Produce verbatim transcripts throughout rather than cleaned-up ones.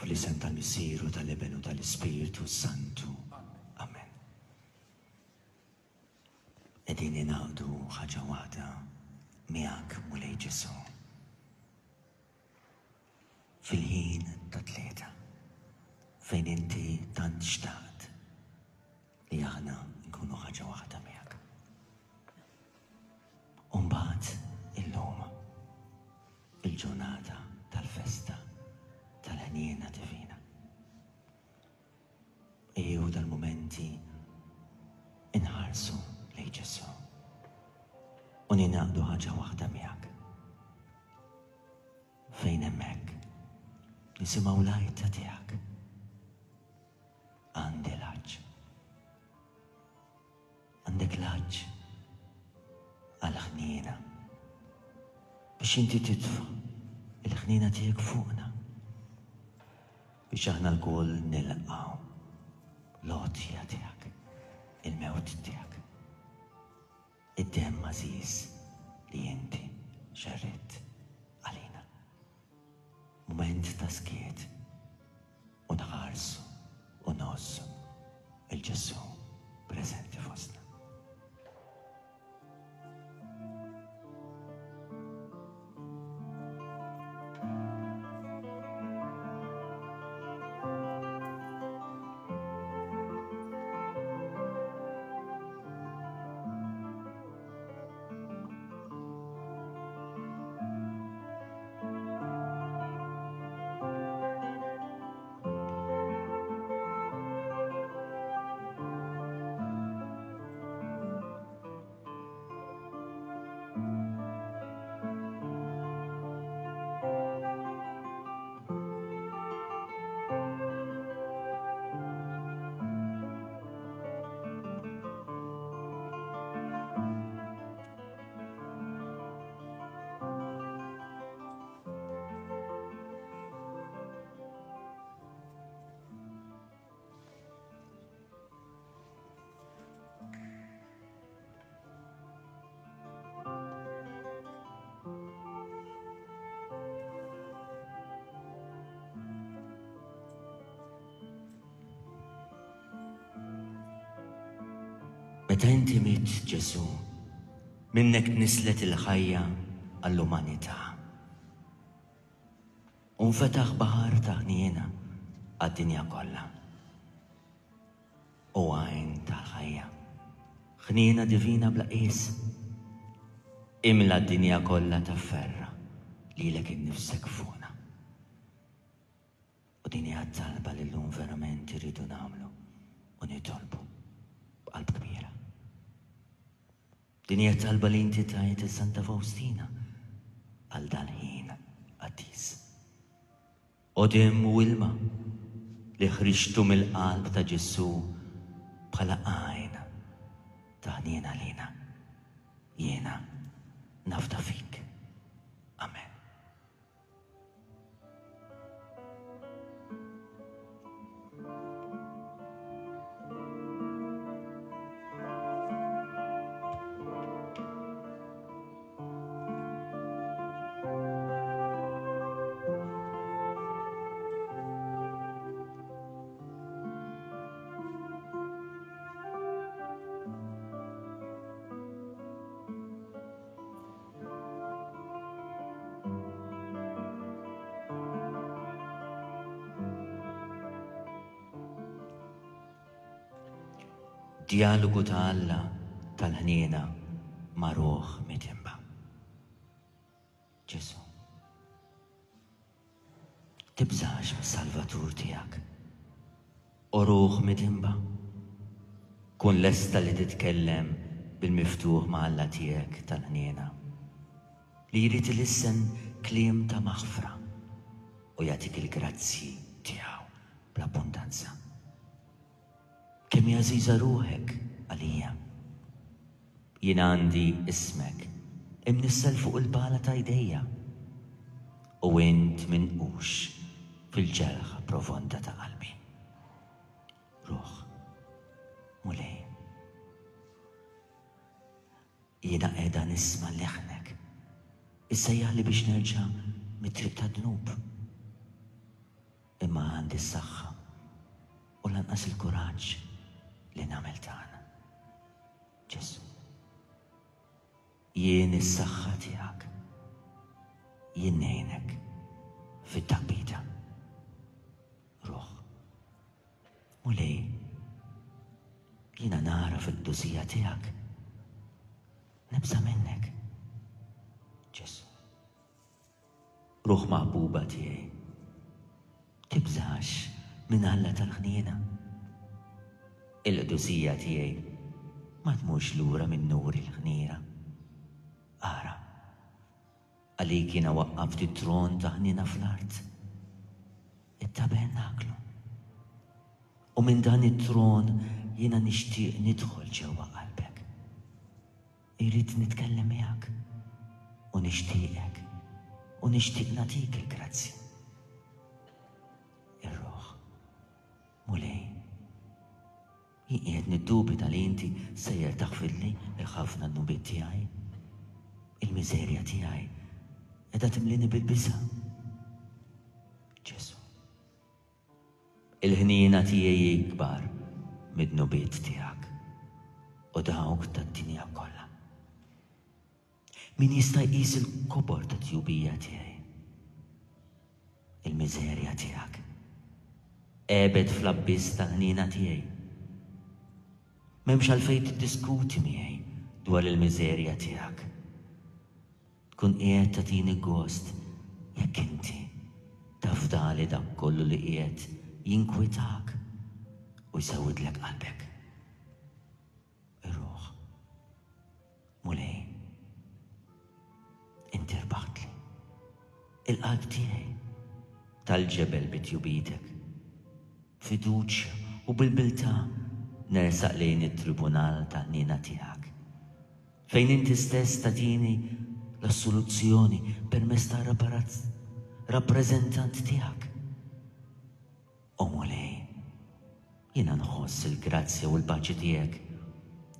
Fl-isem tal-Missier u tal-Iben u tal-Ispirtu Santu. Amen. Qegħdin ningħaqdu ħaġa waħda miegħek, Mulej Ġesù. Fil-ħin ta' tlieta, fejn inti tant xtaqt li aħna nkunu ħaġa waħda miegħek. U mbagħad illum il-ġurnata tal-festa tal-ħniena divina. Ejjew dal-mumenti inħarsu lejn Ġesù u ningħaqdu ħaġa waħda miegħek. Fejn hemmhekk nisimgħu l-għajta tiegħek. Għandi l-għatx. Għandek l-għatx għall-ħniena biex inti titfa' il-ħniena tiegħek fuqna biex aħna lkoll nilqgħu l-għotja tiegħek, il-mewt tiegħek, id-demm għażiż li inti xerridt għalina. Mument ta' skiet u nħarsu u ngħożżu 'l Ġesù preżenti fostna. Meta inti mitt, Ġesù, minnek tnisslet il-ħajja għall-umanità. U nfetaħ baħar ta' ħniena għad-dinja kollha. U għajn tal-ħajja, ħniena divina bla qies, imla d-dinja kollha ta' ferra lilek innifsek fuqna. U din hija talba li llum verament irridu nagħmlu u nitolbu b'qalb kbira. Din hija talba li inti tajt Santa Faustina għal dal-ħin qaddis. O demm u ilma li ħriġtu mill-qalb ta' Ġesù bħala għajn ta' ħniena lina. Jiena nafda fik. Amen. Dialogu ta' Alla tal-ħniena ma' ruħ midinba. Ġesù, tibżax mis-Salvatur tiegħek, o ruħ midinba, kun lesta li titkellem bil-miftuħ ma' Alla tiegħek tal-ħniena, li jrid ilissen kliem ta' maħfra u jagħtik il-grazzji tiegħu bl-abbundanza. Kemm hi għażiża ruħek għalija. Jien għandi ismek imnissel fuq il-pala ta' jdejja u int minqux fil-ġerħa profonda ta' qalbi. Ruħ, Mulej, jiena qiegħda nisma' leħnek issejjaħli biex nerġa' mit-triq tad-dnub. Imma għandi s-saħħa u lanqas il-kuraġġ li nagħmel dan. Ġesù, jien is-saħħa tiegħek, jien ngħinek fit-taqbida. Ruħ, Mulej, jiena nara fil-qdusija tiegħek, nibża' minnek. Ġesù, ruħ maħbuba tiegħi, tibżax minn Alla tal-ħniena. Il-qdusija tiegħi ma tmurx lura minn nur il-ħniena. Ara, għalik jiena waqqaft it-tron ta' ħniena fl-art, it-tabernaklu. U minn dan it-tron jiena nixtieq nidħol ġewwa qalbek. Irrid nitkellem miegħek u nixtieqek u nixtieq nagħtik il-grazzja. Ir-ruħ, Mulej, jien qiegħed niddubita li inti sejjer taħfirli l-ħafna dnubiet tiegħi. Il-miżerja tiegħi qiegħda timlini bil-biża'. Ġesù, il-ħniena tiegħi ikbar mid-dnubiet tiegħek u dawk tad-dinja kollha. Min jista' jqis il-kobor ta' tjubija tiegħi? Il-miżerja tiegħek għebet fl-abbiss tal-ħniena tiegħi. M'hemmx għalfejn tiddiskuti miegħi dwar il-miżerja tiegħek. Tkun qiegħed tagħtini gost jekk inti tafdali dak kollu li qiegħed jinkwitak u jsewwidlek qalbek. Ir-ruħ, Mulej, inti rbaħtli il-qalb tiegħi tal-ġebel bitjubitek. Fiduċja u bil-bilta nersaq lejn it-tribunal tal-ħniena tiegħek, fejn inti stess tagħtini l-assoluzzjoni permezz ta' rappreżentant tiegħek. O Mulej, jiena nħoss il-grazzja u l-paċi tiegħek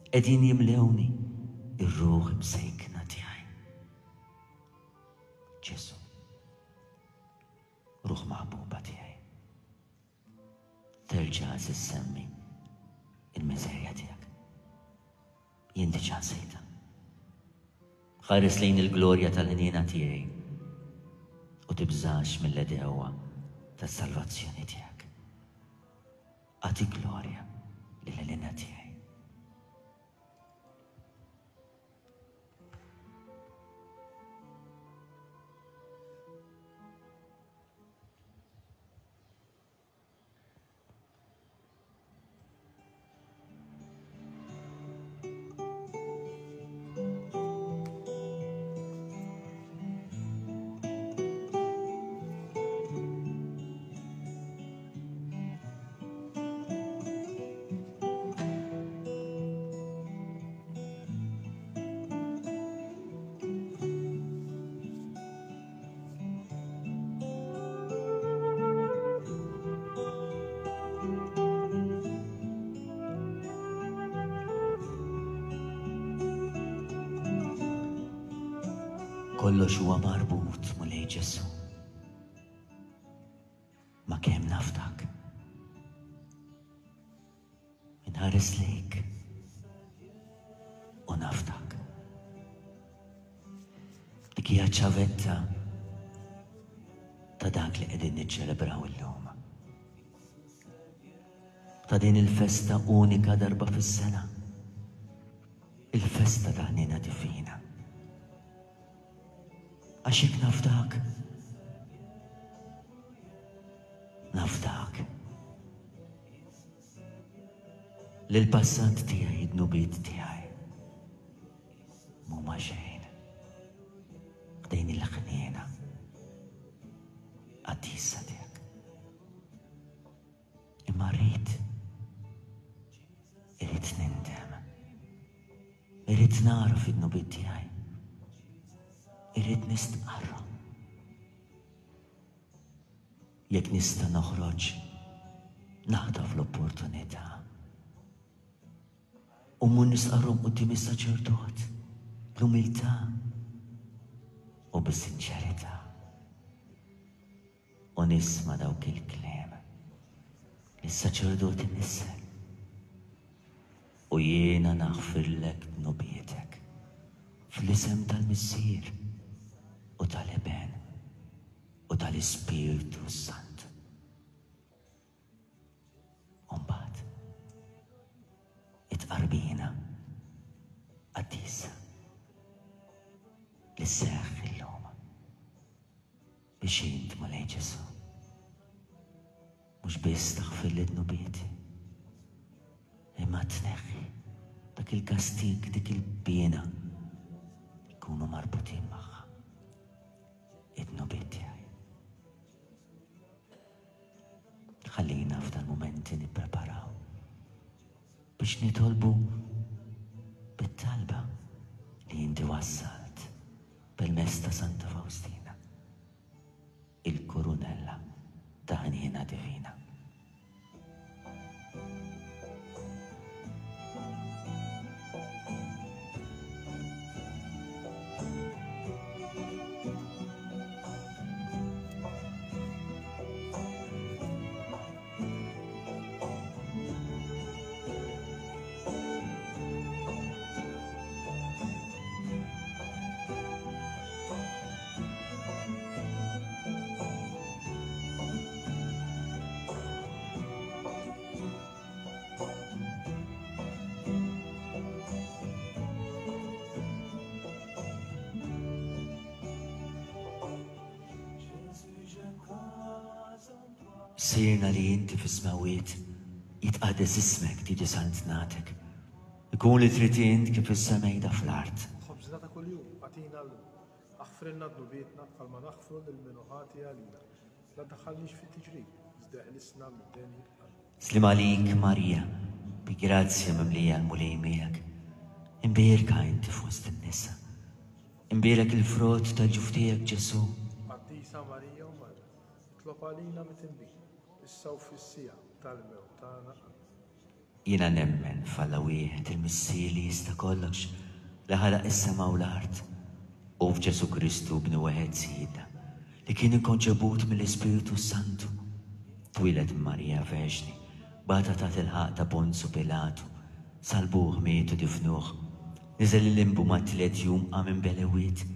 qegħdin jimlewni ir-ruħ imsejkna tiegħi. Ġesù, ruħ maħbuba tiegħi, terġa' issemmi il-miżerja tiegħek. Jien diġà nsejtha. Ħares lejn il-glorja tal-ħniena tiegħi u tibżax mill-għedewwa tas-salvazzjoni tiegħek. Agħti glorja lill-ħniena tiegħi. Kollox huwa marbut, Mulej Ġesù, ma' kemm nafdak. Inħares lejk u nafdak. Dik hija ċavetta ta' dak li qegħdin niċċelebraw illum. Ta' din il-festa unika darba fis-sena. Il-festa ta' ħniena divina. Għax jekk nafdak, nafdak. Lil-passat tiegħi, id-dnubiet tiegħi, m'huma xejn. Ħdejn il-ħniena qaddisa tiegħek. Imma rrid, irrid nindem. Irrid nagħraf id-dnubiet tiegħi. Irrid nistqarra. Jekk nista' noħroġ, naħtaf l-opportunità. U mmur nistqarrhom quddiem is-saċerdot bl-umiltà u bis-sinċerità. U nisma' dawk il-kliem li s-saċerdot inissel. U jiena naħfirlek dnubietek fl-isem tal-Missier u tal-Iben u tal-Ispirtu Santu. U mbagħad it-tqarbina qaddisa li sseħħ illum biex int, Mulej Ġesù, mhux biss taħfirli dnubieti, imma tneħħi dak il-kastig, dik il-piena li jkunu marbutin magħha id-dnubiet tiegħi. Ħallina f'dan mumenti nippreparaw biex nitolbu bit-talba li inti wassalt permezz ta' Santa Faustina, il-kurunella ta' ħniena divina. Sirna li inti fis-smawiet, jitqaddes ismek, tiġi saltnatek. Ikun li trid int kif is-semejda fl-art. Ħobżna ta' kuljum agħtina llum. Aħfrilna dnubietna bħalma naħfru lil min hu ħati għalina. La tdaħħalniex fit-tiġrib, iżda eħlisna mid-deni. Slim għalik Marija, bi grazzja mimlija l-Mulej miegħek. Imbierka inti fost in-nisa. Imbierek il-frott tal-ġuf tiegħek Ġesù. Qaddisa Marija u Marta, itlob għalina mitinbin, issa u fis-siegħa tal-mewt tagħna. Jiena nemmen f'Alla wieħed, il-Missier li jista' kollox, li ħalaq is-sema u l-art, u f'Ġesù Kristu bnu wieħed Sidna, li kien inkonċebut mill-Ispirtu Santu, twieled minn Marija Verġni, bata taħt il-ħaqq ta' Ponzu Pilatu, salbuh, miet u difnuh, niżel il-limbu ma' tliet jum qam minn belewiet,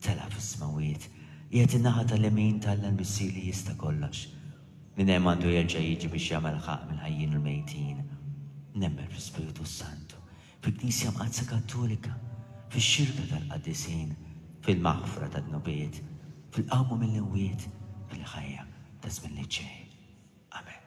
tela' fis-smawiet, qiegħed in-naħa tal-lemin t'Alla l-Missier li jista' kollox. Minn hemm għandu jerġa' jiġi biex jagħmel ħaqq mill-ħajjin u l-mejtin. Nemmen fl-Ispirtu Santu, fil-Knisja Mqaddsa Kattolika, fix-xirka tal-qaddisin, fil-maħfra tad-dnubiet, fil-qawma mill-imwiet, fil-ħajja ta' żmien li ġej. Amen.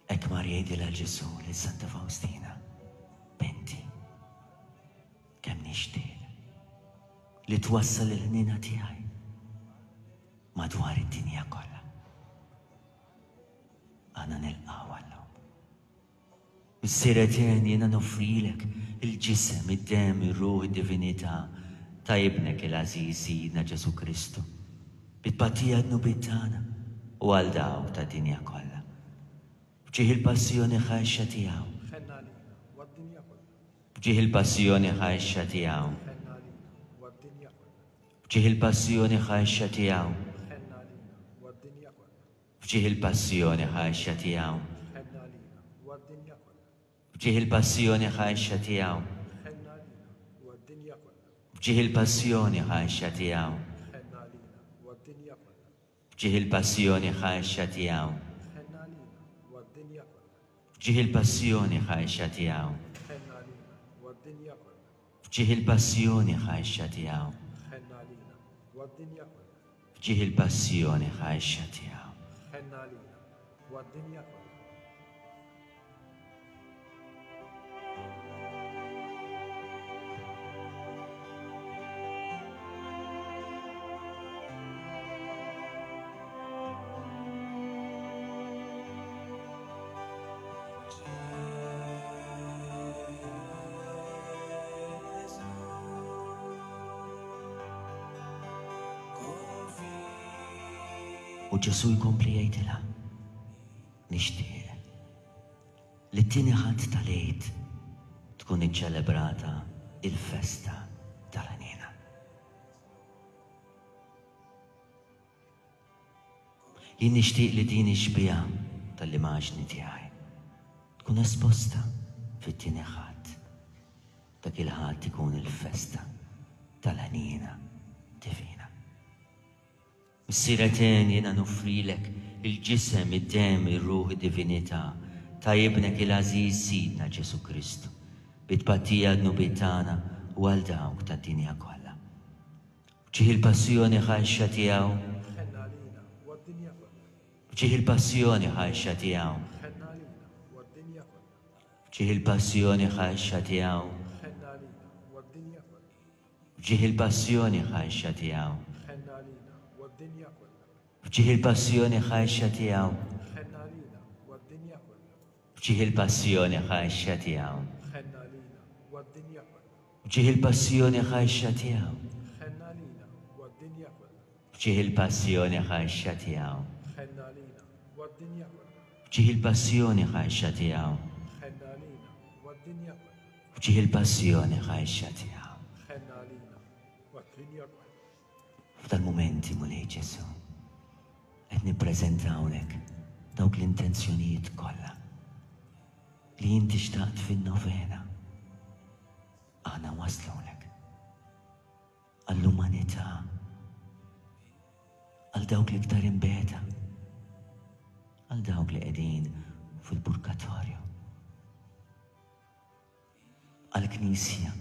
Hekk mar jgħidilha Ġesù lil Santa Faustina, binti, kemm nixtieq li twassal il-ħniena tiegħi madwar id-dinja kollha. Aħna nilqgħu għallhom. Missier etern, jiena noffrilek il-ġisem, id-demm, ir-ruħ, id-divinità ta' ibnek il-għażiż Sidna Ġesù Kristu, bit-tbatija dnubiet tagħna u għal dawk tad-dinja kollha. F'ġieħ il-passjoni ħarxa tiegħu. Ħenna għalina u għad-dinja kollha. F'ġieħ il-passjoni ħarxa tiegħu. Ħenna għalina u għad-dinja kollha. F'ġieħ il-passjoni ħarxa tiegħu. Ħenna għalina u għad-dinja kollha. F'ġieħ il-passjoni ħarxa tiegħu. Ħenna għalina u għad-dinja kollha. F'ġieħ il-passjoni ħarxa tiegħu. Ħenna għalina u għad-dinja kollha. F'ġieħ il-passjoni ħarxa tiegħu. Ħenna għalina u għad-dinja kollha. F'ġieħ il-passjoni ħarxa tiegħu. Ħenna għalina u għad-dinja kollha. F'ġieħ il-passjoni ħarxa tiegħu. Ħenna għalina u għad-dinja kollha. F'ġieħ il-passjoni ħarxa tiegħu. Ħenna għalina u għad-dinja kollha. F'ġieħ il-passjoni ħarxa tiegħu. Ħenna għalina u għad-dinja kollha. U Ġesù jkompli jgħidilha, nixtieq li t-tieni Ħadd tal-Għid tkun iċċelebrata il-festa tal-ħniena. Jien nixtieq li din ix-xbieha tal-immaġni tiegħi tkun esposta fit-tieni Ħadd. Dak il-Ħadd ikun il-festa tal-ħniena divina. Missier etern, jiena noffrilek il-ġisem, id-demm, ir-ruħ, id-divinità ta' ibnek il-għażiż Sidna Ġesù Kristu, bi tpattija dnubiet tagħna u għal dawk tad-dinja kollha. F'ġieħ il-passjoni ħarxa tiegħu, Ħenna għalina u għad-dinja kollha. f'ġieħ il-passjoni ħarxa tiegħu, Ħenna għalina u għad-dinja kollha. f'ġieħ il-passjoni ħarxa tiegħu, Ħenna għalina u għad-dinja kollha. f'ġieħ il-passjoni ħarxa tiegħu, Ħenna għalina u għad-dinja kollha. f'ġieħ il-passjoni ħarxa tiegħu, Ħenna għalina u għad-dinja kollha. f'ġieħ il-passjoni ħarxa tiegħu, Ħenna għalina u għad-dinja kollha. f'ġieħ il-passjoni ħarxa tiegħu, Ħenna għalina u għad-dinja kollha. f'ġieħ il-passjoni ħarxa tiegħu, Ħenna għalina u għad-dinja kollha. f'ġieħ il-passjoni ħarxa tiegħu, Ħenna għalina u għad-dinja kollha. f'ġieħ il-passjoni ħarxa tiegħu. Ħenna għalina u għad-dinja kollha. F'dal-mumenti, Mulej Ġesù, qed nippreżentawlek dawk l-intenzjonijiet kollha li inti xtaqt fin-novena. Aħna waslulek għall-umanità, għal dawk l-iktar imbeta, għal dawk li qegħdin fil-purgatorju, għall-Knisja,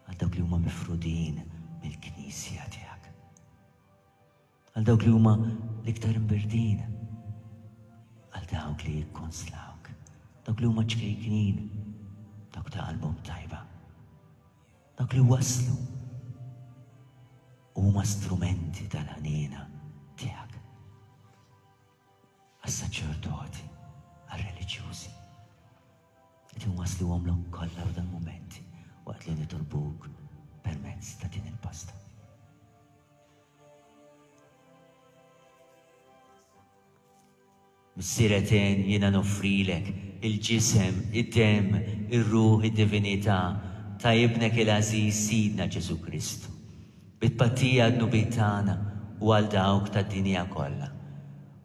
għal dawk li huma mifrudin mill-Knisja tiegħek, għal dawk li huma l-iktar imbirdin, għal dawk li jikkonslawk, dawk li huma ċkejknin, dawk ta' qalbhom tajba, dawk li waslu u huma strumenti tal-ħniena tiegħek. Għas-saċerdoti, għar-reliġjużi, qed inwassluhomlok kollha f'dan mumenti waqt li nitolbuk permezz ta' din il-pasta. Missier etern, jiena noffrilek il-ġisem, id-demm, ir-ruħ, id-divinità ta' ibnek il-għażiż Sidna Ġesù Kristu, bi tpattija dnubiet tagħna u għal dawk tad-dinja kollha.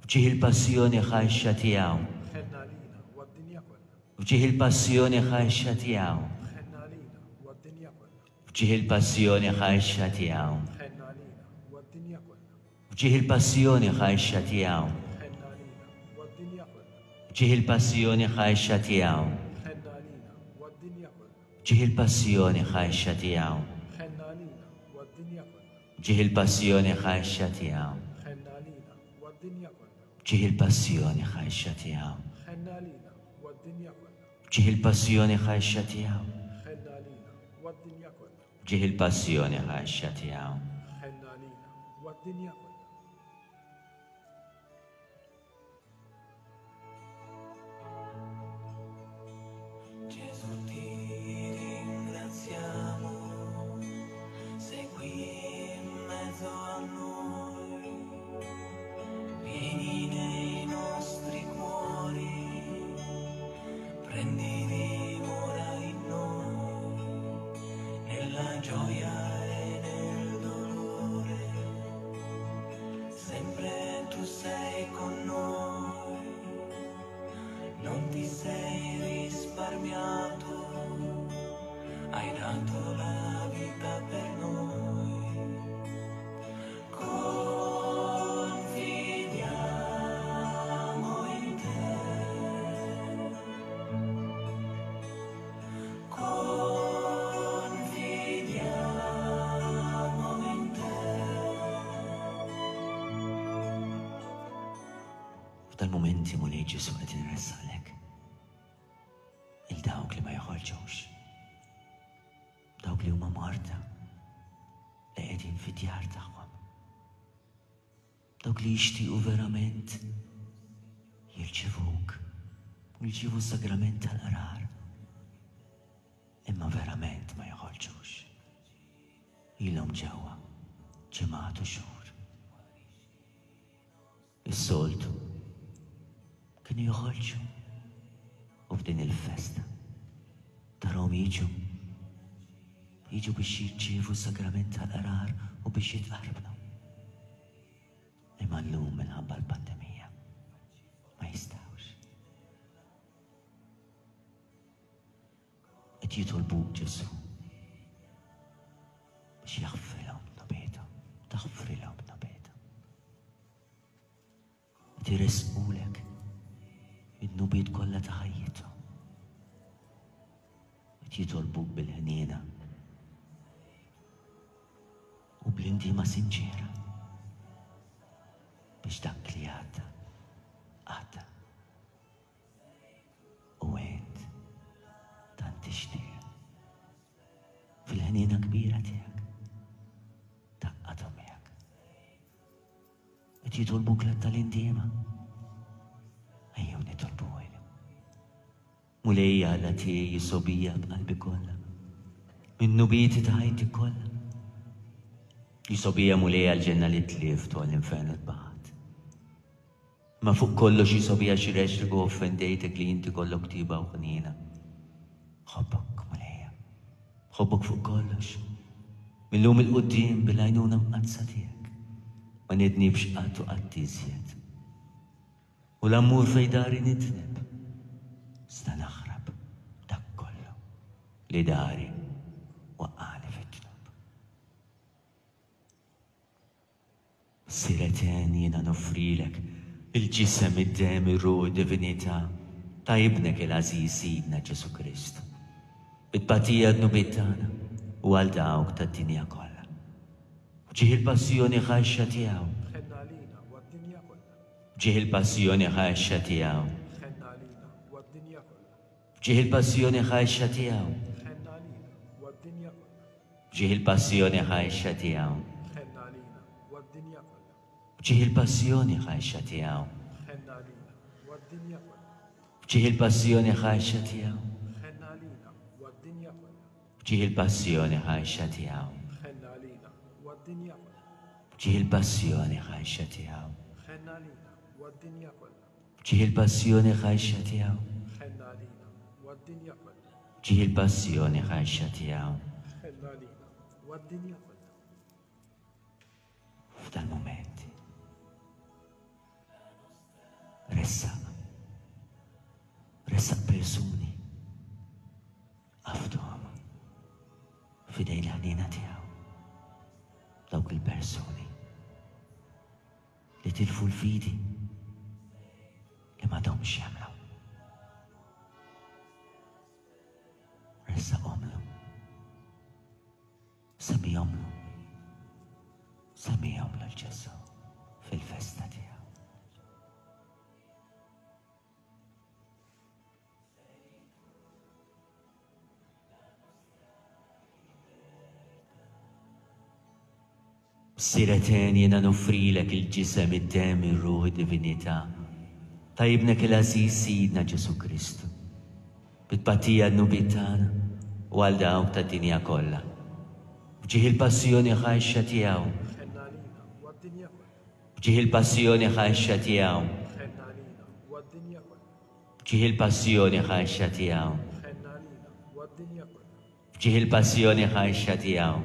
F'ġieħ il-passjoni ħarxa tiegħu, Ħenna għalina u għad-dinja kollha. f'ġieħ il-passjoni ħarxa tiegħu, Ħenna għalina u għad-dinja kollha. f'ġieħ il-passjoni ħarxa tiegħu, Ħenna għalina u għad-dinja kollha. f'ġieħ il-passjoni ħarxa tiegħu, Ħenna għalina u għad-dinja kollha. f'ġieħ il-passjoni ħarxa tiegħu, Ħenna għalina u għad-dinja kollha. f'ġieħ il-passjoni ħarxa tiegħu, Ħenna għalina u għad-dinja kollha. f'ġieħ il-passjoni ħarxa tiegħu, Ħenna għalina u għad-dinja kollha. f'ġieħ il-passjoni ħarxa tiegħu, Ħenna għalina u għad-dinja kollha. f'ġieħ il-passjoni ħarxa tiegħu, Ħenna għalina u għad-dinja kollha. f'ġieħ il-passjoni ħarxa tiegħu. Ħenna għalina u għad-dinja kollha. Gesù, ti ringraziamo, sei qui in mezzo a noi, vieni nei nostri cuori, prendi dimora in noi, nella gioia e nel dolore, sempre tu sei con noi. Non ti sei risparmiato, hai dato la vita per noi. Confidiamo in te. Confidiamo in te. F'dal-mumenti, Mulej Ġesù, qed inressalek il dawk li ma joħorġux, dawk li huma morda li qegħdin fid-djar tagħhom, dawk li jixtiequ verament jirċivuk u jirċivu s-sagrament tal-qrar, imma verament ma joħorġux. Ilhom ġewwa ġimgħat u xhur. Is-soltu kienu joħorġu u f'din il-festa tarahom jiġu jiġu biex jirċievu s-sagrament tal-qrar u biex jitqarbnu. Imma llum minħabba l-pandemija ma jistgħux. Qed jitolbuk Ġesù biex jaħfrilhom dnubiethom, taħfrilhom dnubiethom. Qed iressqulek id-dnubiet kollha ta' ħajjithom. Qed jitolbuk bil-ħniena u bl-indiema sinċiera biex dak li għadda, għadda. U int tant tixtieq fil-ħniena kbira tiegħek tgħaqqadhom miegħek. Qed jitolbuk l tal-indiema. Ejjew nitolbu għajlu. Mulej Alla tiegħi jisobija b'qalbi kollha, minn nubieti ta' ħajti kollha. Jisobija Mulej għall-ġenna li tlift u għall-infern li tbaħat. Ma fuq kollox jisobija xi rexriku offendejtek li inti kollok tiba u ħniena. Ħobbok Mulejja, ħobbok fuq kollox. Millum il-quddiem bil-għajnuna mqaddsa tiegħek. Ma nidnibx qatt u qatt iżjed. U l-ammur fej dari nidneb. Sta naħrab dak kollu li dari waqqani fit-dnub. Sireten jiena noffrilek il-ġisem, id-dem, ir-ruħ, id-divinità ta' ibnek il-għażiż Sidna Ġesù Kristu. Bit-tbatija dnubiet tagħna u għal dawk tad-dinja kollha. Ġieħ il-passjoni ħaxxa tiegħu. Ħenna għalina u għad-dinja kollha. Ġieħ il-passjoni ħaxxa tiegħu. Ħenna għalina u għad-dinja kollha. Ġieħ il-passjoni ħaxxa tiegħu. Ħenna għalina u għad-dinja kollha. Ġieħ il-passjoni ħaxxa tiegħu. Ħenna għalina u għad-dinja kollha. Ġieħ il-passjoni ħaxxa tiegħu. Ħenna għalina u għad-dinja kollha. Ġieħ il-passjoni ħaxxa tiegħu. Ħenna għalina u għad-dinja kollha. Ġieħ il-passjoni ħaxxa tiegħu. Ħenna għalina u għad-dinja kollha. Ġieħ il-passjoni ħaxxa tiegħu. Ħenna għalina u għad-dinja kollha. Ġieħ il-passjoni ħaxxa tiegħu. Ħenna għalina u għad-dinja kollha. Ġieħ il-passjoni ħaxxa tiegħu. Ħenna għalina u għad-dinja kollha. F'dal mument ressaq, ressaq persuni għafduhom f'idejn l-ħniena tiegħu. Dawk il-persuni li tilfu l-fidi li m'għadhomx jemmnu. Ressaqhomlu, semmihomlu, semmihomlu lil Ġesù fil-festa tiegħu. Sireten jiena noffrilek il-ġisem, id-dem, ir-ruħ, id-divinità ta' ibnek il-għażiż Sidna Ġesù Kristu. Bit-tbatija dnubiet tagħna u għal dawk tad-dinja kollha. F'ġieħ il-passjoni ħaxxa tiegħu. Ħenna għalina u għad-dinja kollha. F'ġieħ il-passjoni ħaxxa tiegħu. Ħenna għalina u għad-dinja kollha. F'ġieħ il-passjoni ħaxxa tiegħu. Ħenna għalina u għad-dinja kollha. F'ġieħ il-passjoni ħaxxa tiegħu.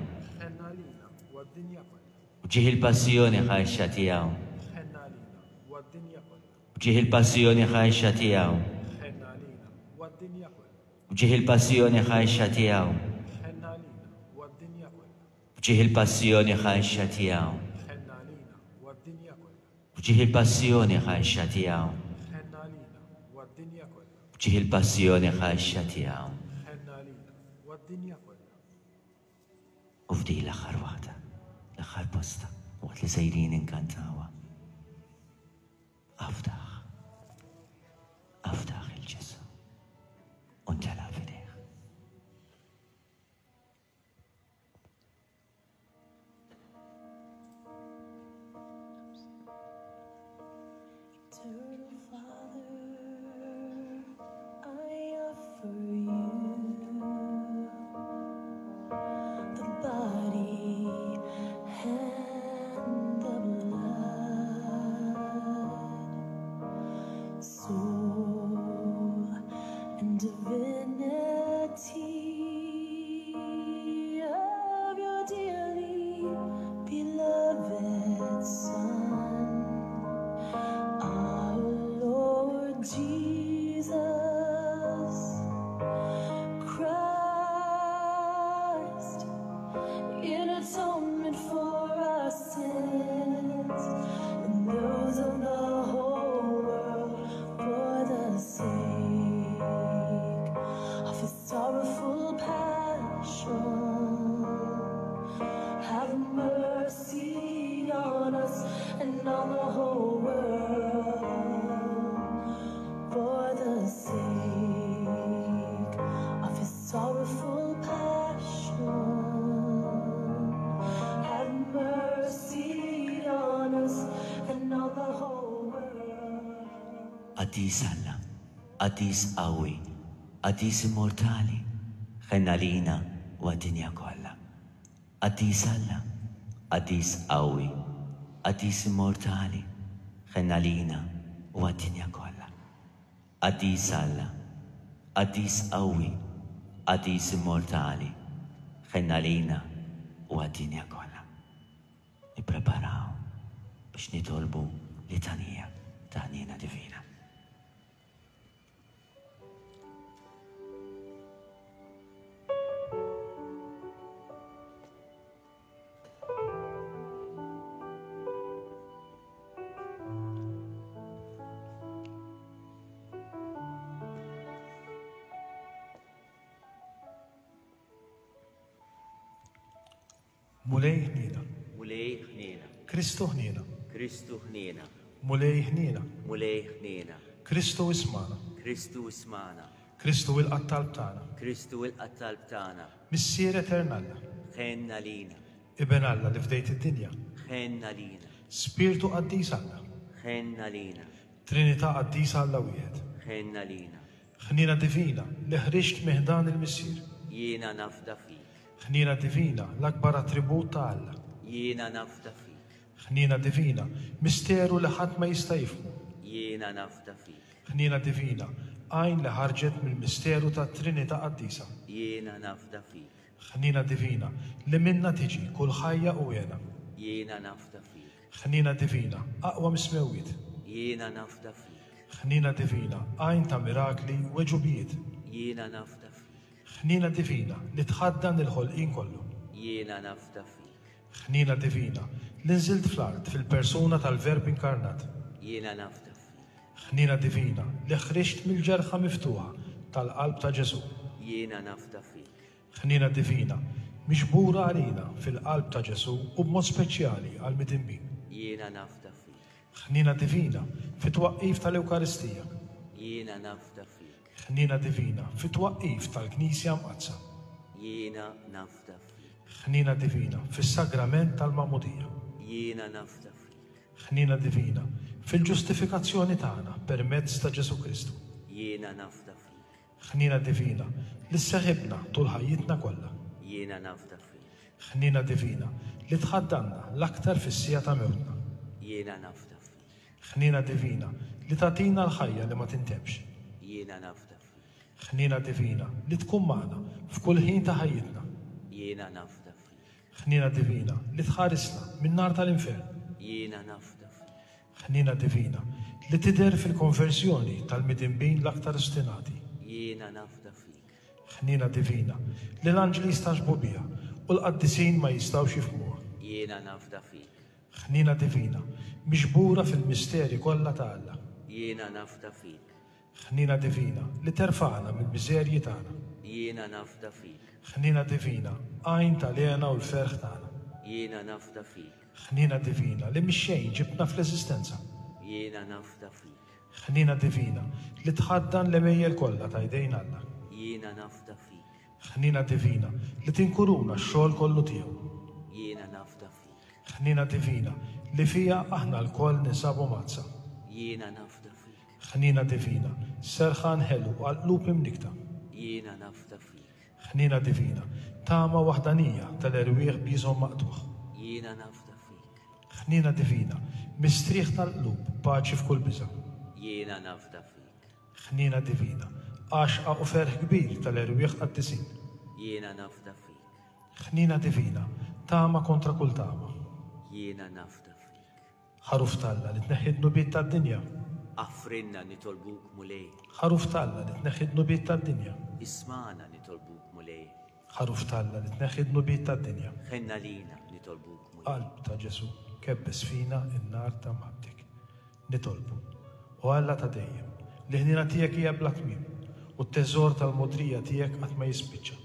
Ħenna għalina u għad-dinja kollha. F'ġieħ il-passjoni ħaxxa tiegħu. Ħenna għalina u għad-dinja kollha. F'ġieħ il-passjoni ħaxxa tiegħu. Ħenna għalina u għad-dinja kollha. F'ġieħ il-passjoni ħaxxa tiegħu. Ħenna għalina u għad-dinja kollha. F'ġieħ il-passjoni ħaxxa tiegħu. Ħenna għalina u għad-dinja kollha. F'ġieħ il-passjoni ħaxxa tiegħu. Ħenna għalina u għad-dinja kollha. F'ġieħ il-passjoni ħaxxa tiegħu. Ħenna għalina u għad-dinja kollha. U f'din l-aħħar waħda, l-aħħar posta, waqt li sejrin inkantawha. Afdaħ, afdaħ il-Ġesù u ntela' f'idejh. Eternal Father, I offer you the body and the blood and on the whole world. For the sake of his sorrowful passion, have mercy on us and on the whole world. Qaddis Alla, Qaddis qawwi, Qaddis immortali, ħenn għalina u għad-dinja kollha. Qaddis Alla, Qaddis qawwi, Qaddis immortali, ħenn għalina u għad-dinja kollha. Qaddis Alla, Qaddis qawwi, Qaddis immortali, ħenn għalina u għad-dinja kollha. Nippreparaw biex nitolbu litanija ta' ħniena divina. Mulej ħniena. Mulej ħniena. Kristu ħniena. Kristu ħniena. Mulej ħniena. Mulej ħniena. Kristu ismana. Kristu ismana. Kristu ilqa' t-talb tagħna. Kristu ilqa' t-talb tagħna. Missier etern Alla. Ħenn għalina. Iben Alla li fdejt id-dinja. Ħenn għalina. Spirtu qaddis Alla. Ħenn għalina. Trinità qaddisa Alla wieħed. Ħenn għalina. Ħniena divina li ħriġt minn ħdan il-Missier. Jiena nafda fik. Ħniena divina, l-akbar attribut ta' Alla. Jiena nafda fik. Ħniena divina, misteru li ħadd ma jista' jifhmu. Jiena nafda fik. Ħniena divina, għajn li ħarġet mill-misteru tat-Trinità Qaddisa. Jiena nafda fik. Ħniena divina, li minna tiġi kull ħajja u hena. Jiena nafda fik. Ħniena divina, aqwa mis-smewwiet. Jiena nafda fik. Ħniena divina, għajn ta' mirakli u għeġubijiet. Jiena nafda fik. Ħniena divina li tħaddan il-ħolqien kollu. Jiena nafda fik. Ħniena divina li nżilt fl-art fil-persuna tal-Verb inkarnat. Jiena nafda fik. Ħniena divina li ħriġt mill-ġerħa miftuħa tal-qalb ta' Ġesù. Jiena nafda fik. Ħniena divina miġbura għalina fil-qalb ta' Ġesù u b'mod speċjali għall-midinbin. Jiena nafda fik. Ħniena divina fit-twaqqif tal-Ewkaristija. Jiena nafda fik. Ħniena divina fit-twaqqif tal-Knisja Mqaddsa. Jiena nafda fik. Ħniena divina fis-sagrament tal-Magħmudija. Jiena nafda fik. Ħniena divina fil-ġustifikazzjoni tagħna permezz ta' Ġesù Kristu. Jiena nafda fik. Ħniena divina li sseħibna tul ħajjitna kollha. Jiena nafda fik. Ħniena divina li tħaddanna l-aktar fis-siegħa ta' mewtna. Jiena nafda fik. Ħniena divina li tagħtina l-ħajja li ma tintemx. Jiena nafda fik. Ħniena divina li tkun magħna f'kull ħin ta' ħajjitna. Jiena nafda fik. Ħniena divina li tħarisna min-nar tal-infern. Jiena nafda fik. Ħniena divina li tidher fil-konversjoni tal-midinbin l-aktar ostinati. Jiena nafda fik. Ħniena divina li l-anġli jistagħġbu biha u l-qaddisin ma jistgħux jifhmuha. Jiena nafda fik. Ħniena divina miġbura fil-misteri kollha ta' Alla. Jiena nafda fik. Ħniena divina li terfagħna mill-miżerji tagħna. Jiena nafda fik. Ħniena divina, għajn tal-hena u l-ferħ tagħna. Jiena nafda fik. Ħniena divina li mix-xejn ġibtna fl-eżistenza. Jiena nafda fik. Ħniena divina li tħaddan l-għemejjel kollha ta' jdejn Alla. Jiena nafda fik. Ħniena divina li tinkuruna x-xogħol kollu tiegħu. Jiena nafda fik. Ħniena divina li fija aħna lkoll ninsabu mgħaddsa. Jiena nafda fik. Ħniena divina, serħan ħelu għal qlub imnikta. Jiena nafda fik. Ħniena divina, tama waħdanija tal-erwieħ b'jiżhom maqtugħ. Jiena nafda fik. Ħniena divina, mistrieħ tal-qlub, paċi f'kull biża'. Jiena nafda fik. Ħniena divina, għaxqa u ferħ kbir tal-erwieħ qaddisin. Jiena nafda fik. Ħniena divina, tama kontra kull tama. Jiena nafda fik. Ħaruf t'Alla li tneħħi d-dnubiet tad-dinja. Offrinna nitolbuk Mulej. Ħaruf t'Alla li tneħħi d-dnubiet tad-dinja. Ismagħna nitolbuk Mulej. Ħaruf t'Alla li tneħħi d-dnubiet tad-dinja. Ħenn għalina nitolbuk Mulej. Qalb ta' Ġesù, kebbes fina n-nar ta' mħabbtek. Nitolbu. O Alla ta' dejjem, li ħniena tiegħek hija bla tmiem u t-teżor tal-mogħdrija tiegħek qatt ma jispiċċa.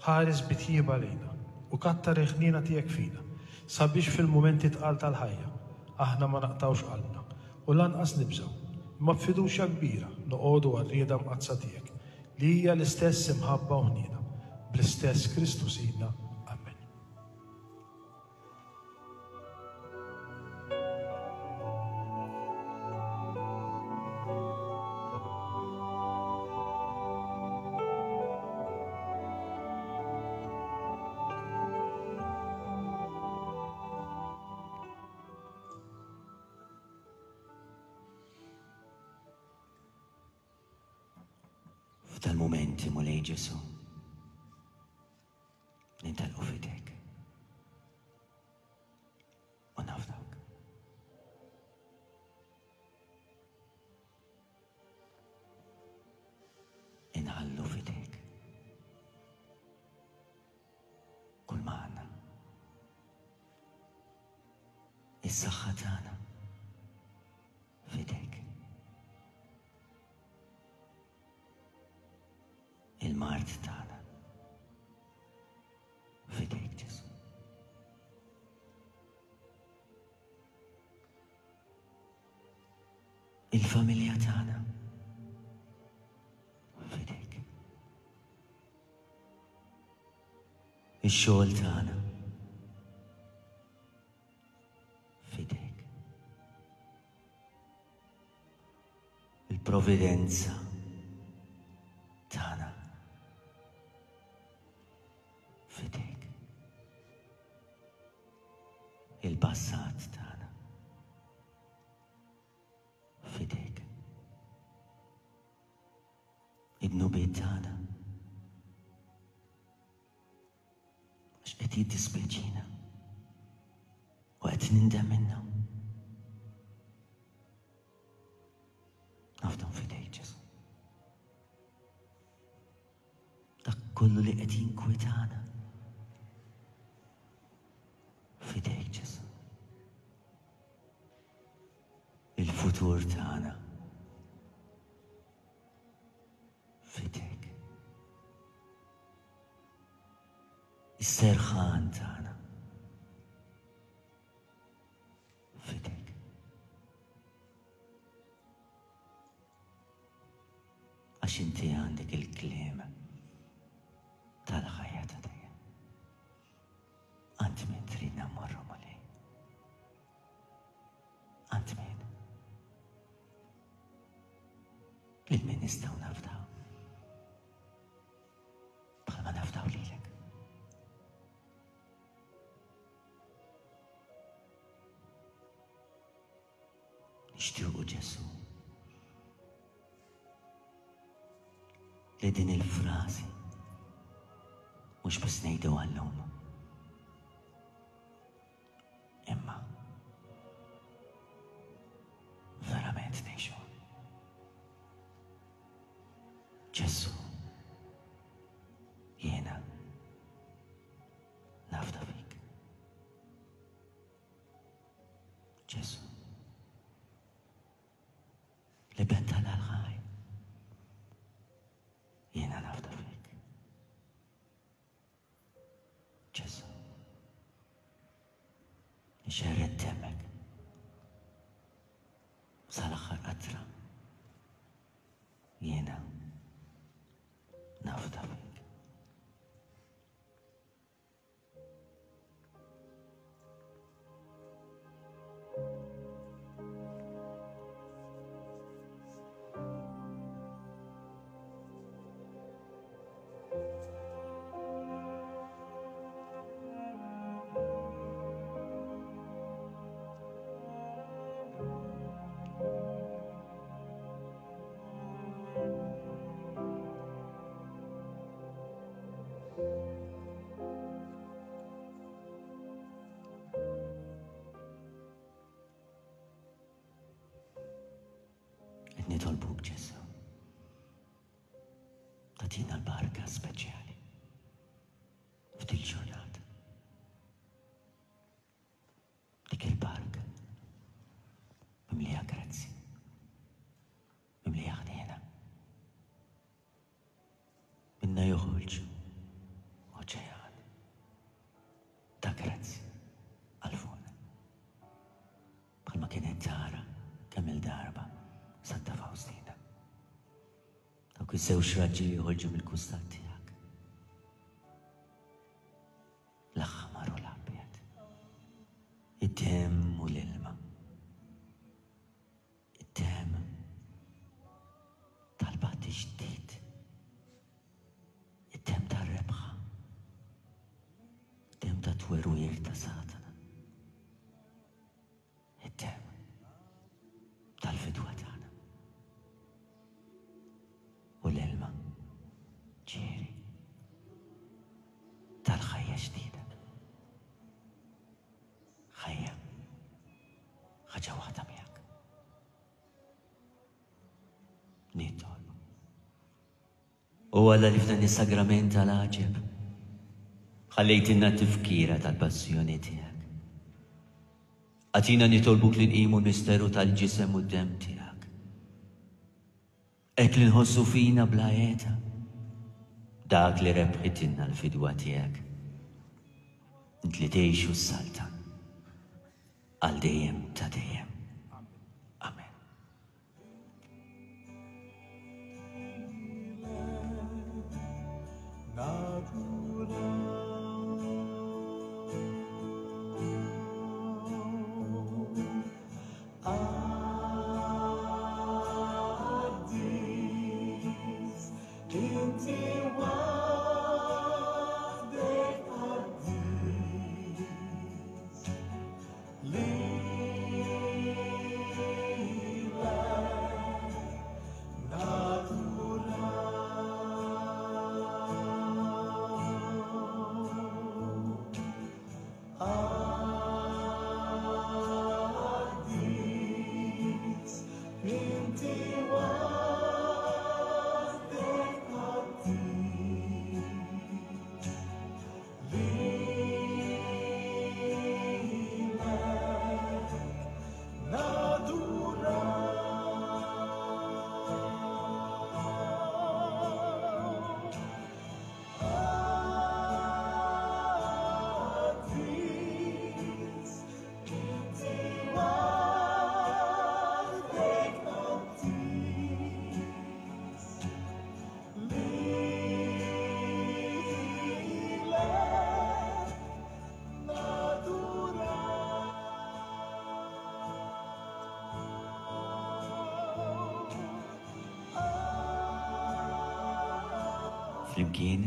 Ħares bitjieba lejna u kattar il-ħniena tiegħek fina, sabiex fil-mumenti tqal tal-ħajja Aħna ma naqtgħux qalbna u lanqas nibżgħu, imma b'fiduċja kbira noqogħdu għar-rieda mqaddsa tiegħek, li hija l-istess imħabba u ħniena, bl-istess Kristu Sidna. Amen. F'dal-mumenti, Mulej Ġesù, nintelqu f'idejk u nafdawk. Inħallu f'idejk kull ma għandna, is-saħħa tagħna f'idejk, il-mard tagħna f'idejk Ġesù. Il-familja tagħna f'idejk. Ix-xogħol tagħna f'idejk. Il-providenza tagħna f'idejk. Il-passat tagħna f'idejk. Id-dnubiet tagħna, għax qed jiddispjaċina u qed nindem minnhom. Nafdhom f'idejk Ġesù. Dak kollu li qed jinkwetana f'idejk Ġesù. Il-futur tagħna f'idejk. Is-serħan tagħna f'idejk. Għax inti għandek il-kliem tal-ħajja ta' dejjem. Għand min tridna mmorru, Mulej? Għand min? Lil min nistgħu nafdaw? Bħalma nafdaw lilek. Nixtiequ Ġesù li din il-frażi mhux biss ngħidu għallum, imma verament ngħixu. Ġesù, jiena nafda fik. Ġesù, l-Iben tal-ħaj, jiena nafda fik. Ġesù, nxerred demmek sal-aħħar qatra, jiena nafda fik. Nitolbuk Ġesù, tagħtina l-barka speċjali f'dil ġurnata. Dik il-barka mimlija grazzi, mimlija ħniena. Minna joħorġu oċean ta' grazzi għal fuqna. tara kemm il-darba Santa Faustina. Dawk iż-żewġ raġġi li joħorġu mill-kustat tiegħek. L-aħmar u l-abjad. Id-demm u l-ilma. Id-demm tal-batti ġdid. Id-demm tar-rebħa. Id-demm ta' twerwir ta' Satana. Id-demm tal-fidwa tagħna. U l-ilma ġieri tal-ħajja ġdida. Ħajja ħaġa waħda miegħek. Nitolbu. U Alla li f'dan is-sagrament tal-għaġeb ħallejtilna tifkira tal-passjoni tiegħek. Agħtina nitolbuk li nqimu l-misteru tal-ġisem u d-demm tiegħek. Hekk li nħossu fina bla għeda dak li rebħitilna l-fidwa tiegħek. Int li tgħix u ssaltan għal dejjem ta' dejjem. Amen. Qaddis, inti waħdek qaddis, lilek naduraw. Qaddis, inti waħdek qaddis, lilek naduraw. Qaddis, inti waħdek qaddis, lilek naduraw. Flimkien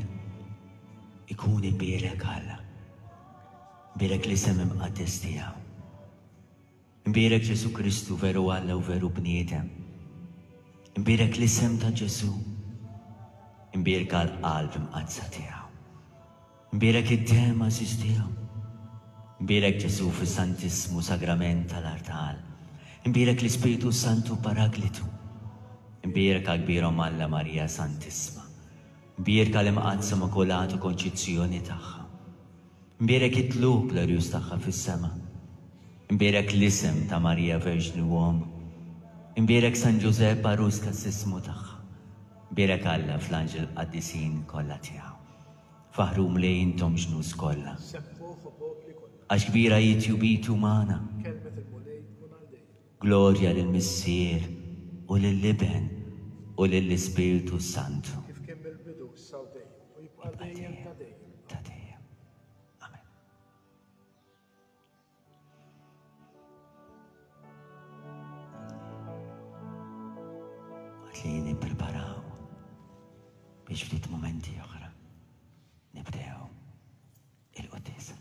ikun imbierek Alla. Imbierek l-isem imqaddes tiegħu. Imbierek Ġesu Kristu veru Alla u veru bniedem. Imbierek l-isem ta' Ġesu. Imbierka l-qalb imqaddsa tiegħu. Imbierek id-demm għażiż tiegħu. Imbierek Ġesu fis-Santissmu Sagrament tal-Artal. Imbierek l-Ispiritu Santu Paraklitu. Imbierka kbir Omm Alla Marija Santissma. Imbierka l-Imqaddsa Immakulata Konċizzjoni tagħha. Imbierek it-tlugħ glorjuż tagħha fis-sema. Imbierek l-isem ta' Marija Verġni u Omm. Imbierek San Ġużepp għarus kassismu tagħha. Imbierek Alla fl-anġel qaddisin kollha tiegħu. Faħru Mulej intom ġnus kollha. Sebħuh o popli kollha. Għax kbira hi tjubitu magħna. Kelmet il-Mulej tkun għal dejjem. Glorja lill-Missier u lill-Iben u lill-Ispirtu Santu. Kif kien mill-bidu issa u dejjem u jibqa' dejjem ta' dejjem. Ta' dejjem. Amen. Waqt li nippreparaw biex ftit momenti oħra nibdew il-quddiesa.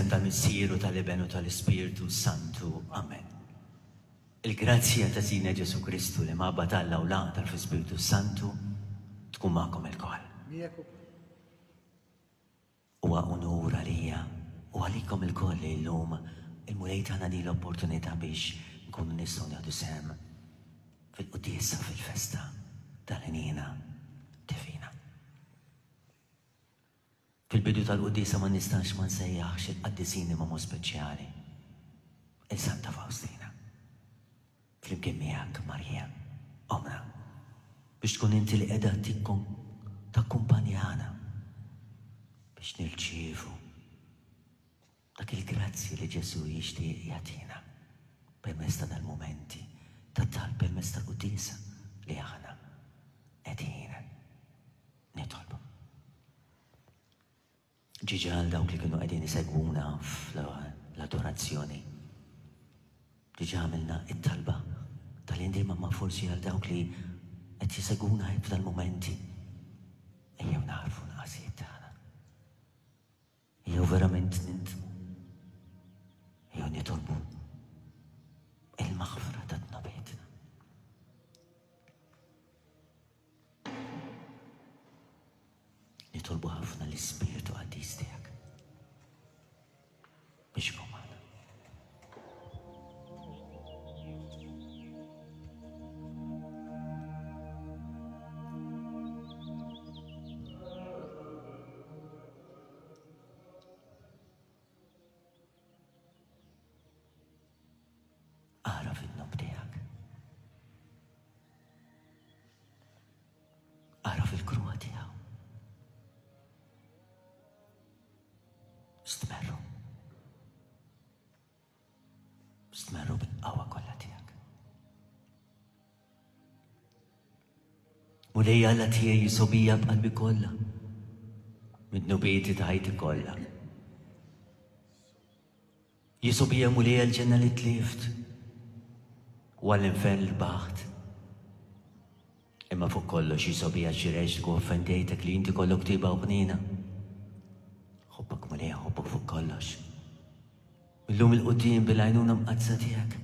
Fl-isem tal-Missier u tal-Iben u tal-Ispirtu Santu. Amen. Il-grazzja ta' Sidna Ġesù Kristu li mabba t'Alla u l-għaqda fl-Ispirtu Santu tkun magħkom ilkoll. Huwa unur għalija u għalikom ilkoll li llum il-Mulej tana din l-opportunità biex nkunu nistgħu nieħdu sehem fil-quddiesa fil-festa tal-Ħniena Divina. Fil-bidu tal-quddiesa ma nistax ma nsejjaħx il-qaddisin imma mod speċjali, il-Santa Faustina. Flimkien miegħek Marija, omna, biex tkun inti li qiegħda takkumpanjana biex nirċievu dak il-grazzi li Ġesù jixtieq jagħtina permezz ta' dal-mumenti ta' talb, permezz tal-quddiesa li aħna qegħdin nitolbu. Ġiġa għal dawk li kienu qegħdin isegwuna fl-adorazzjoni. Diġà għamilna it-talba tal-indiema, ma forsi għal dawk li qed jisegwuna f'dal-mumenti. Ejjew naħarfu naqasijiet tagħna. Ejjew verament nintmu. Ejjew nitolbu il-maħfra ta' dnubietna. Nitolbu ħafna l-Ispirtu Qaddis tiegħek biex ikun magħna. Agħraf id-dnub tiegħek. Agħraf il-kruha tiegħu. Stmerru. Stmerru bil-qawwa kollha tiegħek. Mulej Alla tiegħi jisobija b'qalbi kollha, mid-dnubieti ta' ħajti kollha. Jisobija Mulej għall-ġenna li tlift u għall-infern li baħt. Imma fuq kollox jisobija xi reġt u offendejtek li inti kollok tiba u ħniena. Ħobbok Mulej, ħobbok fuq kollox. Illum il-quddiem bil-għajnuna mqaddsa tiegħek.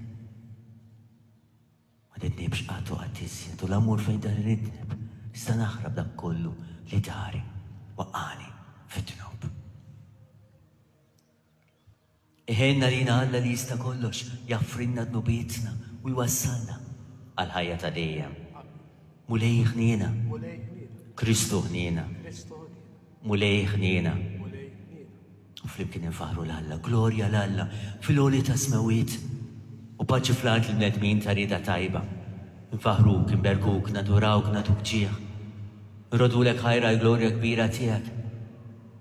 Ma tidnibx qatt u qatt iżjed u l-amur fejn dan iridneb, iżda naħrab dak kollu li dari waqqani fid-dnub. Iħenna lina Alla li jista' kollox, jaffrinna dnubietna u jwassalna għal-ħajja ta' dejjem. Mulej ħniena, Kristu ħniena, Mulej ħniena. U flimkien infaħru l-Alla, glorja l-Alla fil-għoli ta' smewiet u paċi fl-art l-bnedmin ta' rieda tajba. Nfaħruk, nberkuk, nadurawk, nagħtuk ġieħ. Nrodulek ħajra l-glorja kbira tiegħek.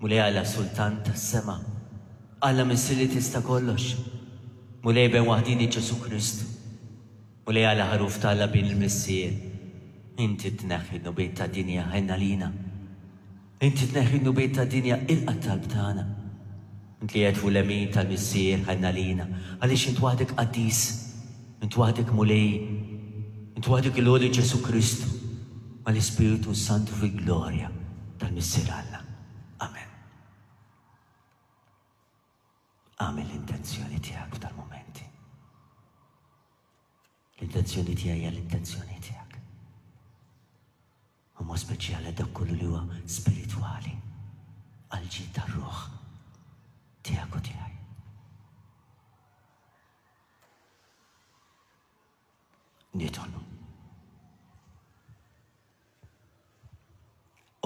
Mulej Alla Sultan tas-sema, Alla Missier li tista' kollox. Mulej Ben waħdini Ġesù Kristu. Mulej Alla ħaruf t'Alla bin il-Missier. Inti tneħħi d-dnubiet tad-dinja, ħenna lina. Inti tneħħi d-dnubiet tad-dinja, ilqa' t-talb tagħna. Int li qed fuq l-lemin tal-Missier, ħenna lina, għaliex int waħdek qaddis, int waħdek Mulej, int waħdek il-Għoli Ġesù Kristu, mal-Ispirtu Santu fil-glorja tal-Missier Alla. Amen. Agħmel l-intenzjoni tiegħek f'dal-mumenti. L-intenzjoni tiegħi hija l-intenzjoni tiegħek. U mod speċjali dak kollu li huwa spiritwali għall-ġid tar-ruħ tiegħek u tiegħi. Nitolbu.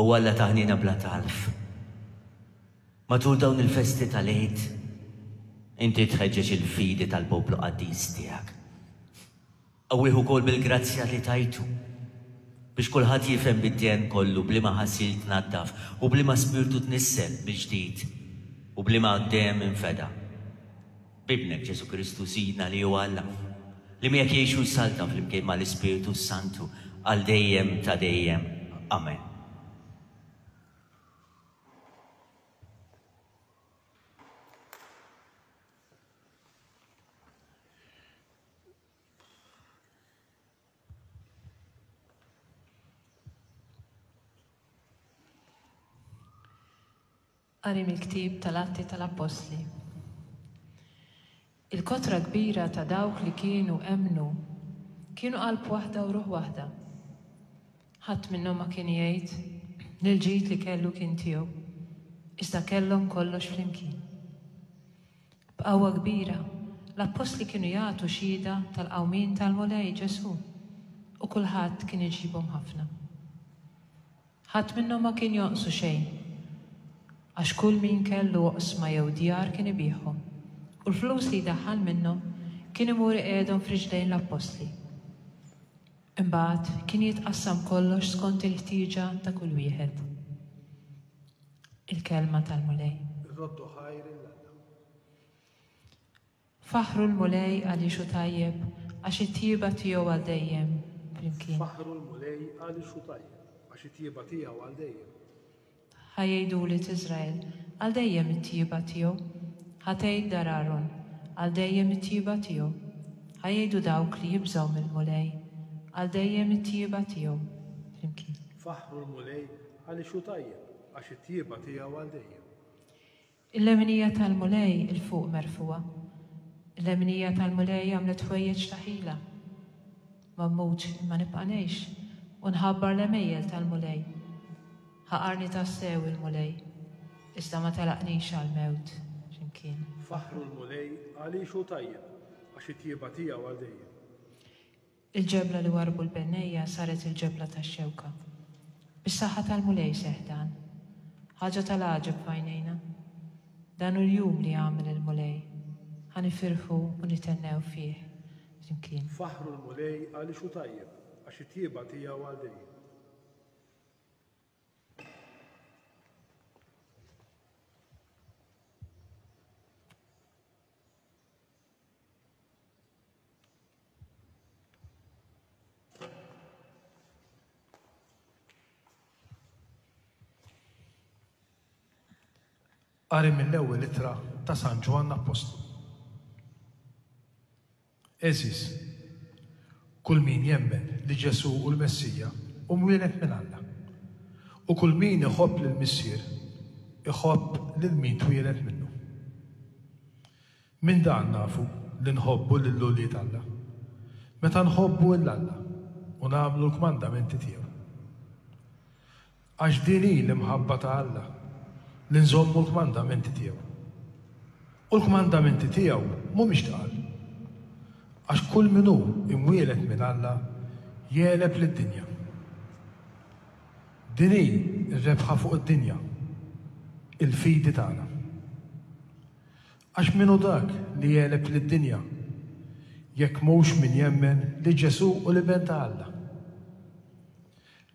U Alla taħnina bla talf. Matul dawn il-festi tal-Għid, inti tħeġġeġ il-fidi tal-poplu qaddis tiegħek. Qawwih ukoll bil-grazzja li tajtu biex kulħadd jifhem bid-djen kollu bliema ħasil tnaddaf u bliema spirtu tnissel mill-ġdid u bliema dejjem infeda. B'Ibnek Ġesù Kristu Sidna li hu Alla, li miegħek jgħixu jsaltan flimkien mal-Ispirtu Santu għal dejjem ta' dejjem. Amen. Qari mill-ktieb tal-Atti tal-Appostli. Il-kotra kbira ta' dawk li kienu emmnu kienu qalb waħda u ruħ waħda. Ħadd minnhom ma kien jgħid li l-ġid li kellu kien tiegħu, iżda kellhom kollox flimkien. B'qawwa kbira, l-appostli kienu jagħtu xhieda tal-qawmien tal-Mulej Ġesù u kulħadd kien iġibhom ħafna. Ħadd minnhom ma kien jonqsu xejn, għax kull min kellu oqsma jew djar kien ibigħhom, u l-flus li jdaħħal minnhom kien imur iqiegħdhom f'riġlejn l-appostli. Imbagħad kien jitqassam kollox skont il-ħtieġa ta' kull wieħed. Il-kelma tal-Mulej. Irroddu ħajr lil Alla. Faħħru l-Mulej għaliex hu tajjeb, għax it-tjieba tiegħu għal dejjem flimkien. Faħħru l-Mulej għaliex hu tajjeb, għax it-tjieba tiegħu għal dejjem. Ħa jgħidu wlied Iżrael, għal dejjem it-tjieba tiegħu. Ħa tgħid dar Aron, għal dejjem it-tjieba tiegħu. Ħa jgħidu dawk li jibżgħu mill-Mulej, għal dejjem it-tjieba tiegħu. Flimkien. Faħħru l-Mulej għaliex hu tajjeb, għax it-tjieba tiegħu għal dejjem. Il-leminija tal-Mulej 'il fuq merfugħa. Il-leminija tal-Mulej għamlet ħwejjeġ ta' ħila. Ma mmutx imma nibqa' ngħix u nħabbar l-għemejjel tal-Mulej. Ħaqarni tassew il-Mulej, iżda ma telaqnix għall-mewt x'imkien. Faħħru l-Mulej għaliex hu tajjeb, għax it-tjieba tiegħu għal dejjem. Il-ġebla li warbu l-bennejja saret il-ġebla tax-xewka. Bis-saħħa tal-Mulej seħħ dan. Ħaġa tal-għaġeb f'għajnejna. Dan hu l-jum li għamel il-Mulej. Ħa nifirħu u nithennew fih. Flimkien. Faħħru l-Mulej għaliex hu tajjeb, għax it-tjieba tiegħu għal dejjem. Qari mill-ewwel ittra ta' San Ġwann Appostlu. Għeżież, kull min jemmen li Ġesù hu l-Messija hu mwieled minn Alla. U kull min iħobb lill-Missier iħobb lil min twieled minnu. Minn dan nafu li nħobbu lil ulied Alla. Meta nħobbu lil Alla u nagħmlu l-kmandamenti tiegħu. Għax din hi l-imħabba ta' Alla, li nżommu l-kmandamenti tiegħu. U l-kmandamenti tiegħu mhumiex tqal. Għax kull min hu imwieled minn Alla jegħleb lid-dinja. Din hi r-rebħa fuq id-dinja, il-fidi tagħna. Għax min hu dak li jegħleb lid-dinja, jekk mhux min jemmen li Ġesù hu l-Iben ta' Alla.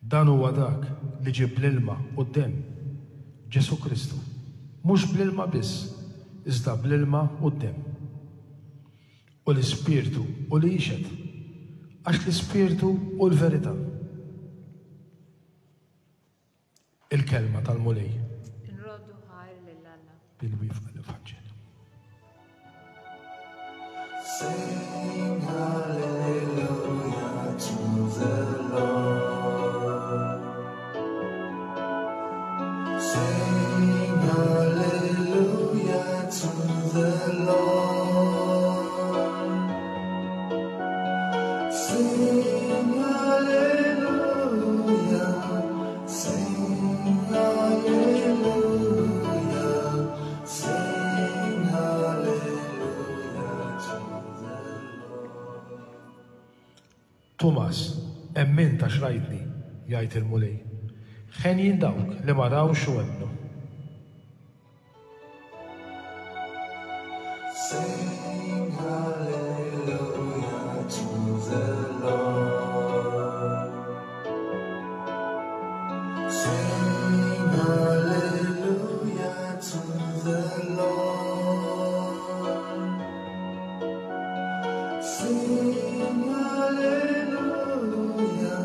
Dan huwa dak li ġie bl-ilma u d-demm, Ġesù Kristu, mhux bl-ilma biss, iżda bl-ilma u d-demm. U l-Ispirtu hu li jixhed, għax l-Ispirtu hu l-verità. Il-kelma tal-Mulej. Inroddu ħajr lil Alla. Bil-wifqa l-Evanġelju. Sing hallelujah to the Lord. Sing hallelujah to the Lord. Sing hallelujah, sing hallelujah, sing hallelujah to the Lord. Tumas, emmint għax rajtni, jgħid il-Mulej. Ħenjin dawk li ma rawx u emmnu. Sing hallelujah to the Lord. Sing hallelujah to the Lord. Sing hallelujah,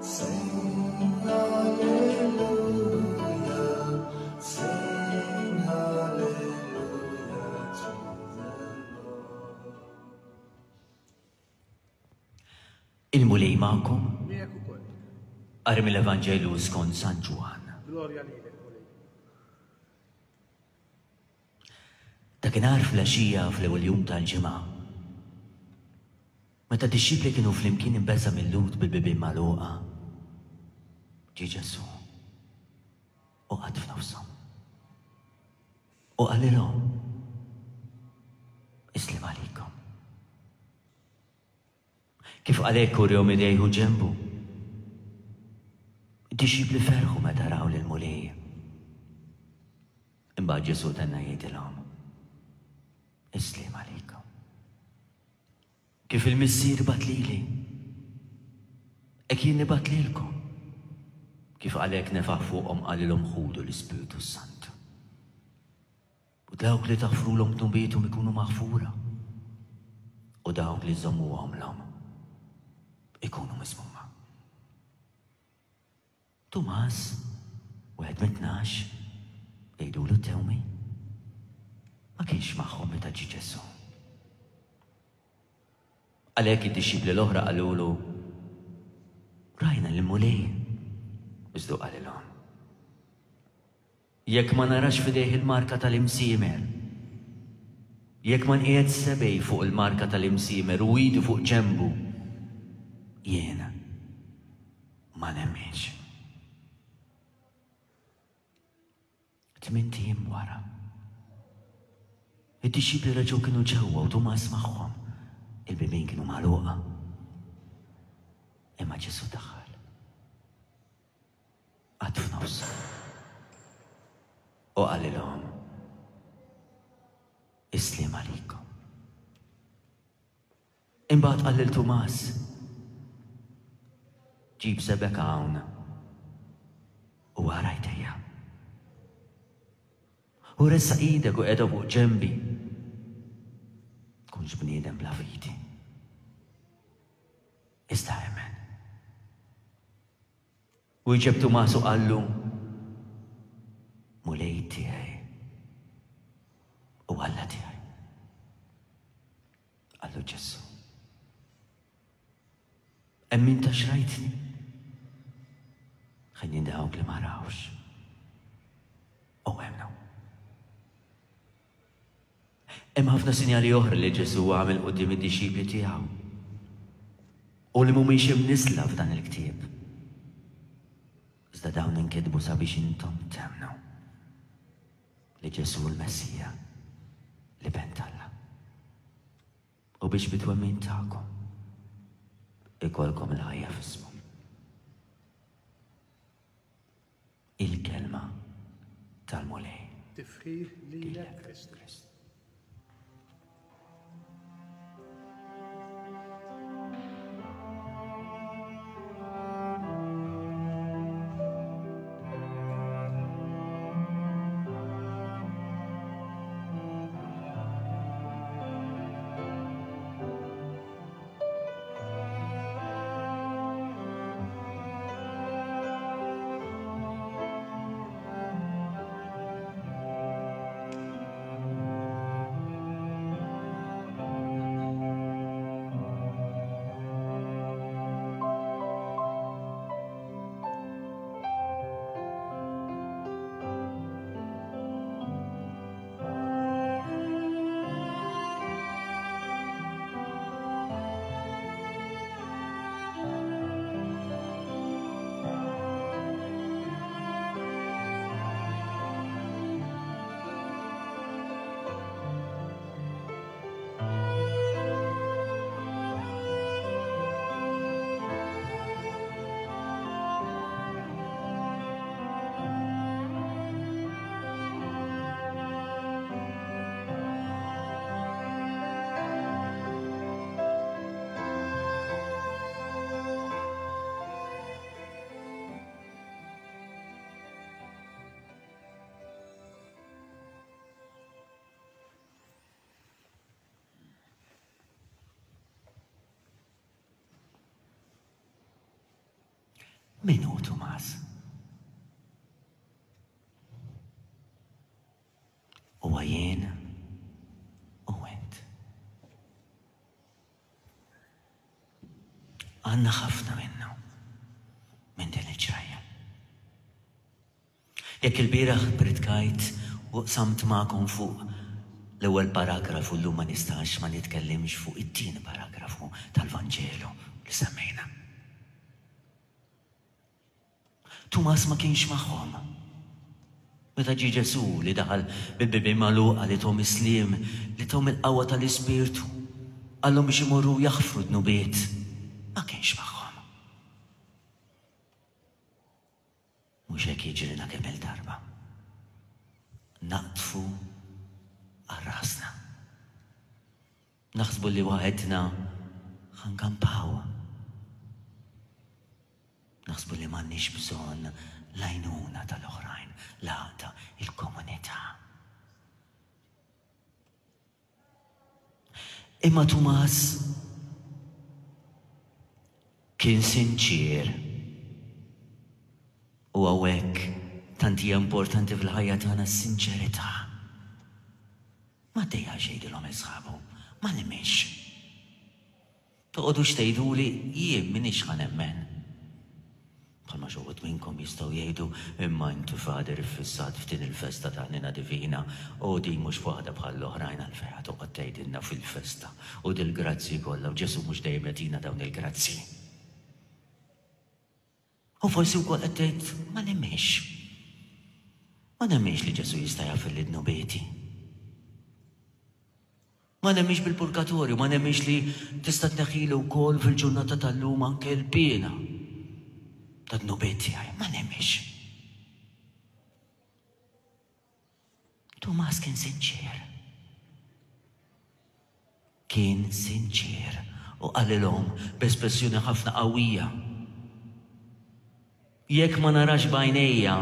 sing hallelujah, sing hallelujah to the Lord. Il-Mulej magħkom. Miegħek ukoll. Qari mill-Evanġelju skont San Ġwann. Glorja lilek, Mulej. Dakinhar fl-għaxija fl-ewwel jum tal-ġimgħa, meta d-dixxipli kienu flimkien imbeżgħa mil-Lhud bil-bibien magħluqa, ġie Ġesù u qagħad f'nofshom. U qalilhom, Is-sliem għalikom. Kif qal hekk urihom idejh u ġenbu. Id-dixxipli ferħu meta raw lill-Mulej. Imbagħad Ġesù tenna jgħidilhom, Is-sliem għalikom. Kif il-Missier bagħat lili, hekk jien nibgħat lilkom. Kif qal hekk nefaħ fuqhom qalilhom ħudu l-Ispirtu s-Santu. U dawk li taħfrulhom dnubiethom ikunu maħfura, u dawk li żommuhomlhom ikunu miżmuma. Tumas, wieħed mit-tnax, jgħidulu Tewmi, ma kienx magħhom meta ġie Ġesù. Għalhekk id-dixxipli l-oħra qalulu, Rajna lill-Mulej. Iżda hu qalilhom, Jekk ma narax f'idejh il-marka tal-imsiemer, jekk ma nqiegħed sebgħi fuq il-marka tal-imsiemer u idi fuq ġenbu, jien ma nemminx. Tmint ijiem wara, id-dixxipli reġgħu kienu ġewwa u Tumas magħhom. Il-bibien kienu magħluqa. Imma Ġesù daħal. Qagħad f'nofshom. U qalilhom, Is-sliem għalikom. Imbagħad qal lil Tumas, Ġib sebgħek hawn u ara jdejja. U ressaq idek u qiegħda fuq ġenbi. Tkunx bniedem bla fidi. Iżda emmen. U jġeb Tumas u qallu, Mulej tiegħi u Alla tiegħi. Qallu Ġesù, Emmint għax rajtni? Ħenjin dawk li ma rawx u emmnu. Hemm ħafna sinjali oħra li Ġesù għamel quddiem id-dixxipli tiegħu u li mhumiex imniżżla f'dan il-ktieb. Iżda dawn inkitbu sabiex intom temmnu li Ġesù l-Messija, l-Iben t'Alla, u biex bit-twemmin tagħkom ikollkom il-ħajja f'ismu. Il-kelma tal-Mulej. Tifħir lilek Kristu. Min hu Tumas? Huwa jien u int. Għandna ħafna minnu minn din il-ġrajja. Jekk il-bieraħ pritkajt u qsamt magħkom fuq l-ewwel paragrafu, llum ma nistax ma nitkellimx fuq it-tieni paragrafu tal-Vanġelu li semmejna. Tumas ma kienx magħhom. Meta ġie Ġesù li daħal bil-bibien magħluqa, li thom is-sliem, li thom il-qawwa tal-Ispirtu, qallhom biex imorru jaħfru dnubiet, ma kienx magħhom. Mhux hekk jiġrina kemm il-darba. Naqtfu għal rasna. Naħsbu li waħedna ħankampaw. Naħsbu li m'għandniex bżonn l-għajnuna tal-oħrajn, l-għaqda, il-komunità. Imma Tumas kien sinċier. U hawnhekk tant hija importanti fil-ħajja tagħna s-sinċerità. Ma dejjax jgħidilhom isħabu, ma nemminx. Toqgħodux tgħiduli jien m'iniex ħa nemmen. Bħalma xi wħud minnkom jistgħu jgħidu imma inti Father iffissat f'din il-festa ta' Ħniena Divina u din mhux waħda bħall-oħrajn, għalfejn ħa toqgħod tgħidilna fil-festa u dil-grazzi kollha, u Ġesù mhux dejjem jagħtina dawn il-grazzi. U forsi wkoll qed tgħid ma nemminx. Ma nemminx li Ġesù jista' jagħfirli dnubieti. Ma nemminx bil-purgatorju, ma nemminx li tista' tneħħilu wkoll fil-ġurnata tal-lum anke l-piena ta' dnubiet tiegħi. Ma nemminx. Tumas kien sinċier. Kien sinċier u qalilhom b'espressjoni ħafna qawwija. Jekk ma narax b'għajnejja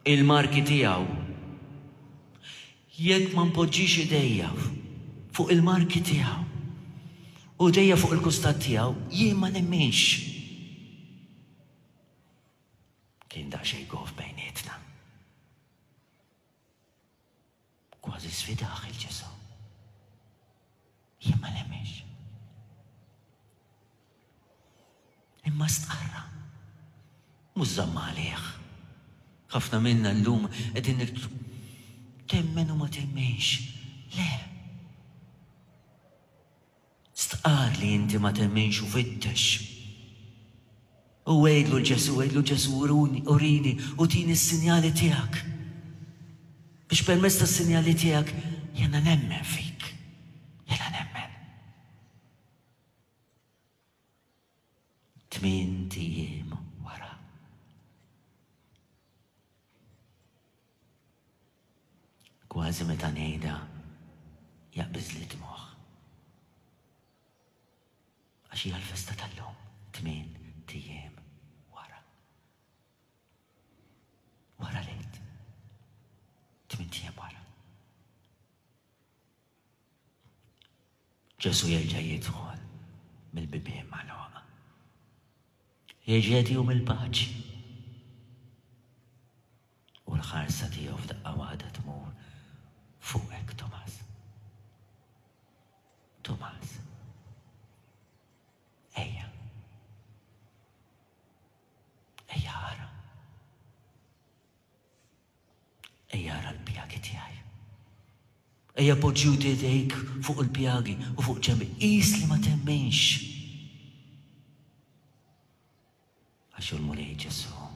il-marki tiegħu, jekk ma npoġġix idejja fuq il-marki tiegħu u idejja fuq il-kustat tiegħu, jien ma nemminx. Kien daqsxejn gof bejnietna. Kważi sfidaħ il-Ġesù. Jien ma nemminx. Imma stqarra. Mhux żamma għalih. Ħafna minna llum qegħdin temmen u ma temmenx. Le. Stqar li inti ma temmenx u fittex. U għidlu l-Ġesù, għidlu Ġesù, urini u tini s-sinjali tiegħek. Biex permezz tas-sinjali tiegħek jiena nemmen fik. Jiena nemmen. Tmien ijiem wara. Kważi meta ngħidha jaqbiż li dmuħ. Għax hija l-festa tal-lum, tmien ijiem wara. Wara l-Għid. Tmien ijiem wara. Ġesù jerġa' jidħol mill-bibien magħluqa. Jerġa' jagħtihom il-paċi. U l-ħarsa tiegħu f'daqqa waħda tmur fuqek, Tumas. Tumas. Ejja. Ejja ara. Ejja ara l-pjagi tiegħi. Ejja poġġi idejk fuq il-pjagi u fuq ġenbi. Qis li ma temminx. Għax il-Mulej Ġesù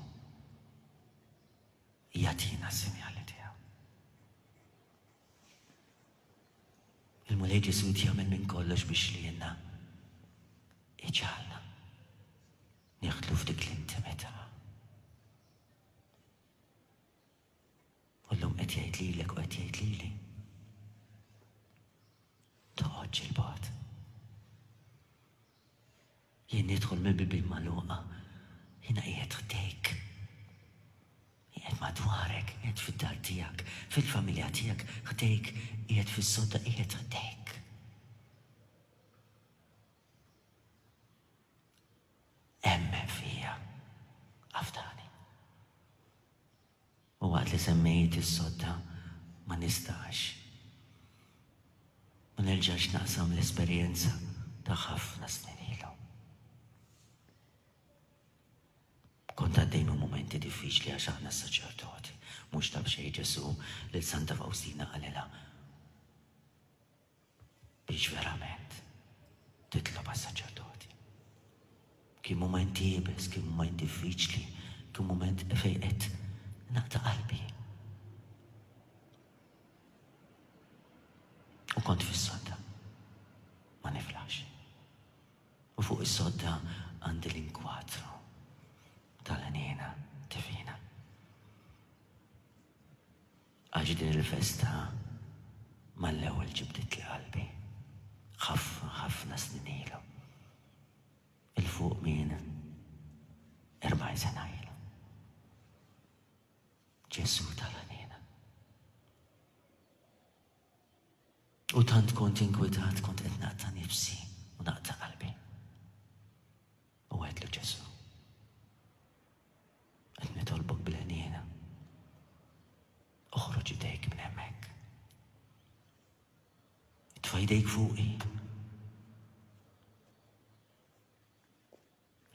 jagħtina s-sinjali tiegħu. Il-Mulej Ġesù jagħmel minn kollox biex lilna iġagħalna nieħdlu f'dik l-intimità. U llum qed jgħid lilek u qed jgħid lili. Toqgħodx il-bogħod. Jien nidħol mill-bibien magħluqa, jiena qiegħed ħdejk. Qiegħed madwarek, qiegħed fid-dar tiegħek, fil-familja tiegħek, ħdejk, qiegħed fis-sodda, qiegħed ħdejk. Emmen fija, afdani. U waqt li semmejt is-sodda ma nistax ma nerġax naqsam l-esperjenza ta' ħafna snin ilu. Kont għaddej minn mumenti diffiċli għax aħna s-saċerdoti, Mhux ta' b'xejn Ġesù lil Santa Faustina qalilha biex verament titlob għas-saċerdoti. Kien mument iebes, kien mument diffiċli, kien mument fejn qed naqta' qalbi. U kont fis-sodda, ma niflax. U fuq is-sodda għandi l-inkwatru tal-ħniena divina. Għax din il-festa mal-ewwel ġibditli qalbi. Ħafna, ħafna snin ilu. Il-fuq minn erbgħin sena ilu. Ġesù tal-ħniena. U tant kont inkwetat, kont qed naqta' nifsi u naqta' qalbi. U għedtlu Ġesù, qed nitolbok bil-ħniena. Oħroġ idejk minn hemmhekk. Itfa' idejk fuqi.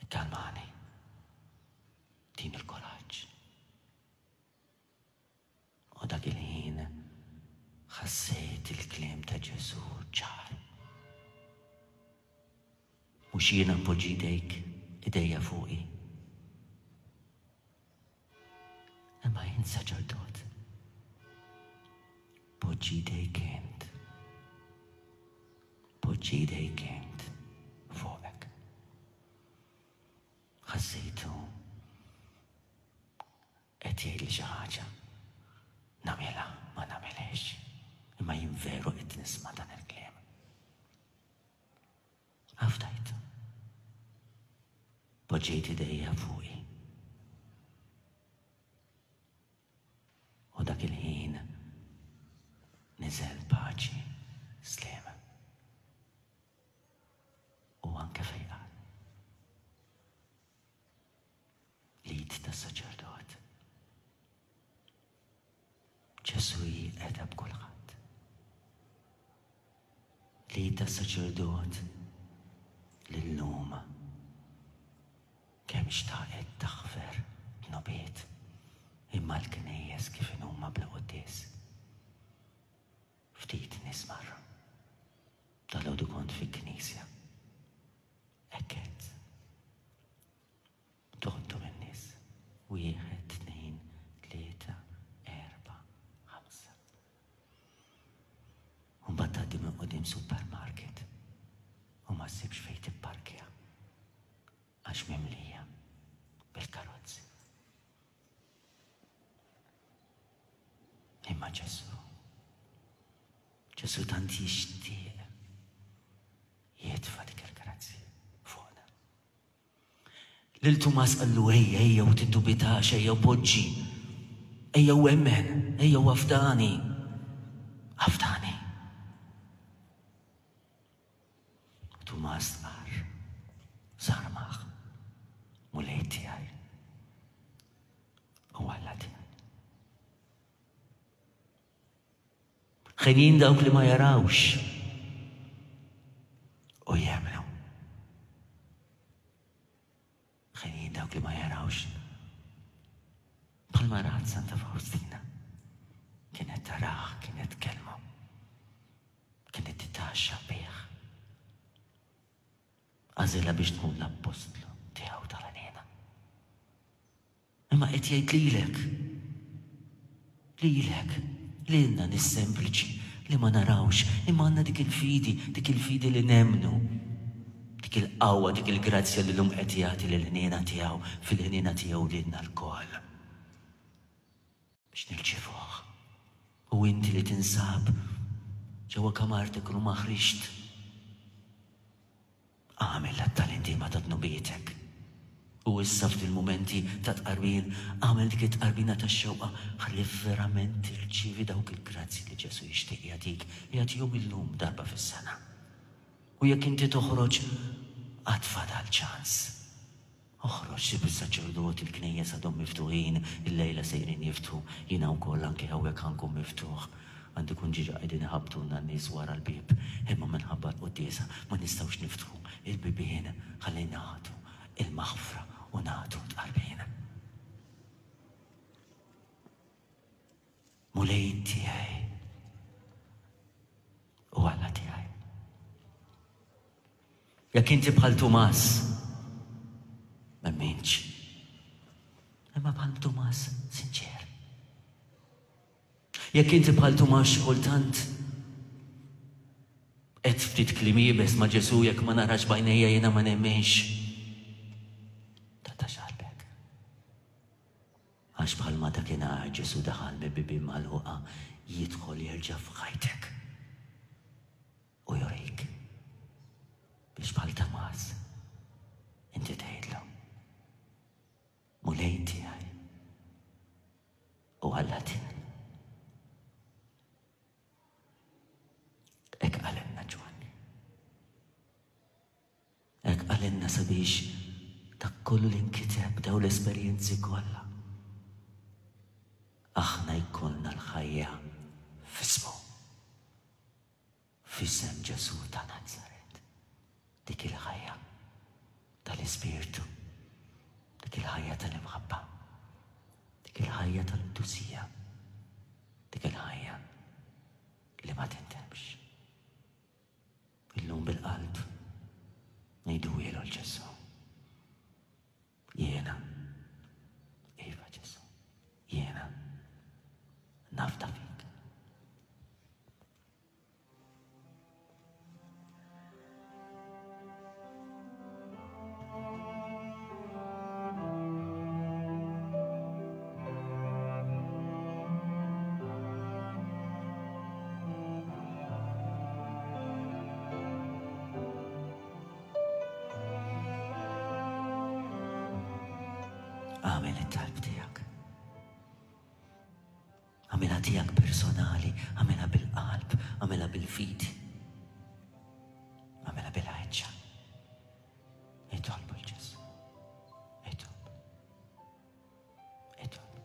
Ikkalmani. Tini l-kuraġġ. U dak il-ħin ħassejt il-kliem ta' Ġesù ċar. Mhux jiena npoġġi idejk, idejja fuqi. Imma jien saċerdot. Poġġi idejk int. Poġġi idejk int fuqek. Ħassejtu qed jgħidli xi ħaġa. Nagħmilha, ma nagħmilhiex. Imma jien veru qed nisma' dan il-kliem. Afdajt. Poġġejt idejja fuqi. U dak il-ħin niżel paċi, sliem. U anke fejqan. L-id tas-saċerdot. Ġesù qiegħda b'kulħadd. L-id tas-saċerdot lil-lum kemm xtaqet taħfer dnubiet imma l-knejjes kif inhuma bla quddies. Ftit nies marru. Dalgħodu kont fi knisja. Hekk qed. Toħodhom in-nies. Wieħed, tnejn, tlieta, erba', ħamsa. U mbagħad tgħaddi minn quddiem supermarket u ma ssibx fejn tipparkja għax mimlija bil-karozzi. Imma Ġesù, Ġesù tant jixtieq jitfa' dik il-grazzja fuqna. Lil Tumas qallu ejja, ejja u tiddubitax, ejja u poġġi, ejja u emmen, ejja u afdani, afdani. Tumas stqarr, sarmaħ, Mulej tiegħi u Alla tiegħi. Ħenin dawk li ma jarawx u jemmnu. Ħenin dawk li ma jarawx. Bħalma rat Santa Faustina. Kienet tarah, kienet tkellmu. Kienet titgħaxxa bih. Għażilha biex tkun l-appostlu tiegħu tal-għalina. Imma qed jgħid lilek, lilek, lilna nies sempliċi li ma narawx, imma għandna dik il-fidi, dik il-fidi li nemmnu, dik il-qawwa, dik il-grazzja li llum qed jagħti lill-ħniena tiegħu, fil-ħniena tiegħu lilna lkoll. Biex nirċivuh. U inti li tinsab ġewwa kamartek u ma ħriġt, agħmel l-att tal-indiema ta' dnubietek. U issa f'dil-mumenti ta' tqarbin, agħmel dik it-tqarbina tax-xewqa ħalli verament tirċievi dawk il-grazzi li Ġesù jixtieq jagħtik, jagħtihom illum darba fis-sena. U jekk inti toħroġ, għad fadal ċans. Oħroġ, sib is-saċerdoti, il-knejjes għadhom miftuħin, il-lejla sejrin jiftħu, jiena wkoll anke hawnhekk ħankun miftuħ. Għandi kun ġiġa qegħdin iħabbtulna n-nies wara l-bieb, imma minħabba l-quddiesa ma nistgħux niftħu il-bibien ħalli nagħtu il-maħfra u nagħtu tqarbin. Mulej tiegħi u Alla tiegħi. Jekk inti bħal Tumas, m'emminx. Imma bħal Tumas sinċer. Jekk inti bħal Tumas xi kultant qed ftit kliem iebes ma' Ġesù, jekk ma narax b'għajnejja jiena ma nemminx. Taqtax qalbek. Għax bħalma dakinhar Ġesù daħal mill-bibien magħluqa, jidħol jerġa' f'ħajtek u jurik biex bħal Tumas inti tgħidlu, Mulej tiegħi u Alla tiegħi. Hekk qalilna Ġwanni. Hekk qalilna sabiex dak kollu li nkiteb, daw l-esperjenzi kollha, aħna jkollna l-ħajja f'ismu, f'isem Ġesù ta' Nazaret. Dik il-ħajja tal-Ispirtu, dik il-ħajja tal-imħabba, dik il-ħajja tal-qdusija, dik il-ħajja li ma tintemx. Illum bil-qalb ngħidu ilu l-Ġesù. Jiena, iva Ġesù, jiena nafda fik. Għamel it-talb tiegħek. Għamilha tiegħek personali, għamilha bil-qalb, għamilha bil-fidi, għamilha bil-ħeġġa. Itolbu l-Ġesù. Itolbu. Itolbu.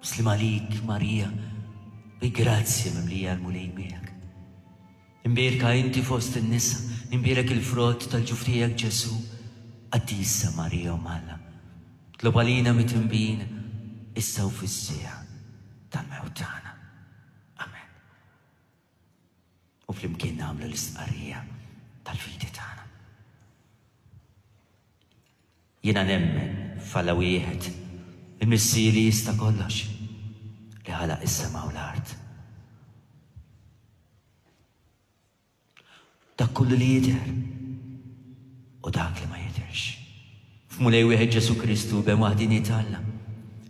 Muslim għalik, Marija, bi grazzja mimlija l-Mulej miegħek. Imbierka inti fost in-nisa, imbierek il-frott tal-ġuf tiegħek Ġesù. Qaddisa Marija Omm Alla, tlob għalina mitmbin issa u fis-siegħa tal-mewt tagħna. Amen. U flimkien nagħmlu l-istqarrija tal-fidi tagħna. Jiena nemmen f'Alla wieħed, il-Missier li jista' kollox, li ħalaq is-sema u l-art. Dak kollu li jidher u dak li ma jidherx. F'Mulej wieħed Ġesù Kristu, ben waħdini t'Alla,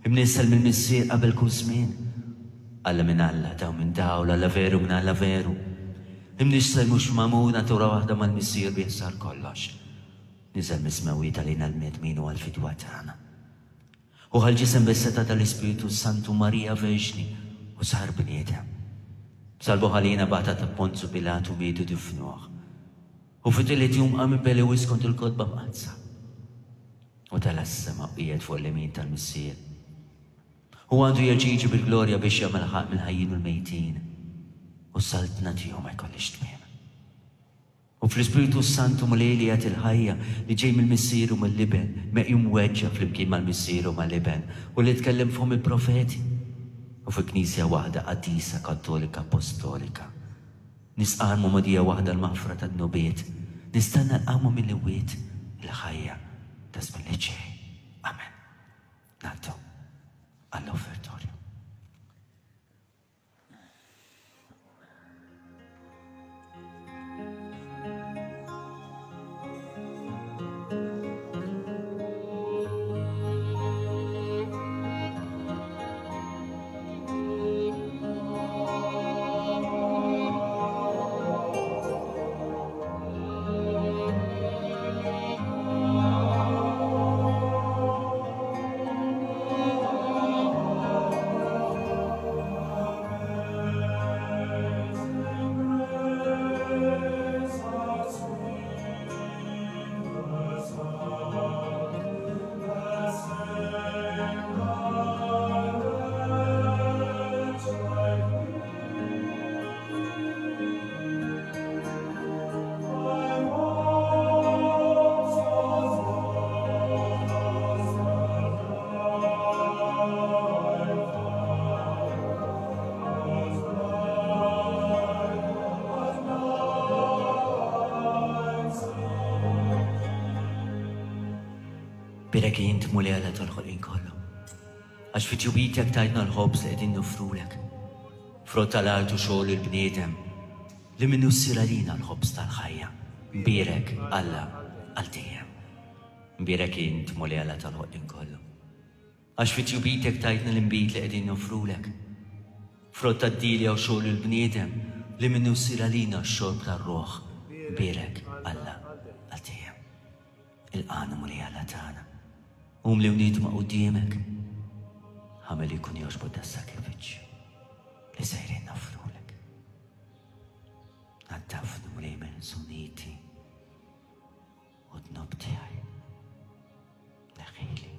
imnissel mill-Missier qabel kull żmien. Alla minn Alla, daw minn dawl, Alla veru minn Alla veru. Imnissel mhux magħmul, natura waħda mal-Missier bih sar kollox. Niżel mis-smewwiet għalina l-bnedmin u għall-fidwa tagħna. U ħal ġisem bis-setgħa tal-Ispirtu Santu Marija Verġni u sar bniedem. Salbu ħalina bata ta' Ponzu Pilatu mietu difnuh. U fit-tielet jum qam minn bejn l-imwiet skont il-kotba mqaddsa. U tela' s-sema u qiegħed fuq l-imin tal-Missier. U għandu jerġa' jiġi bil-glorja biex jagħmel ħaqq mill-ħajjin u l-mejtin. U s-saltna tiegħu ma jkollhiex tmiem. U fl-Ispirtu Santu Mulej li jagħti il-ħajja li ġej mill-Missier u mill-Iben, meqjum weġġa flimkien mal-Missier u mal-Iben, u li tkellem f'fomm il-profeti. U fi Knisja waħda qaddisa Kattolika Apostolika. Nistqarr magħmudija waħda l-maħfra tad-dnubiet, nistenna l-qawma mill-imwiet, il-ħajja ta' żmien li ġej. Amen. Ngħaddu għall-offertorju. Thank Mbierek int Mulej Alla tal-ħolqien kollu. Għax fi tjubitek tajtna l-ħobż li qegħdin noffrulek. Frott tal-art u xogħol il-bniedem li minnu ssir għalina l-ħobż tal-ħajja. Mbierek Alla għal dejjem. Mbierek int Mulej Alla tal-ħolqien kollu. Għax fi tjubitek tajtna l-inbid li qegħdin noffrulek. Frott tad-dilja u xogħol il-bniedem li minnu ssir għalina x-xorb tar-ruħ. Mbierek Alla għal dejjem. Il-qana Mulej Alla tagħna. Umli u nidma quddiemek. Ħamel jkun jogħġbok das-sagrifiċċju li sejrin noffrulek. Naddafni Mulej minn żuniti u dnub tiegħi. Neħħili.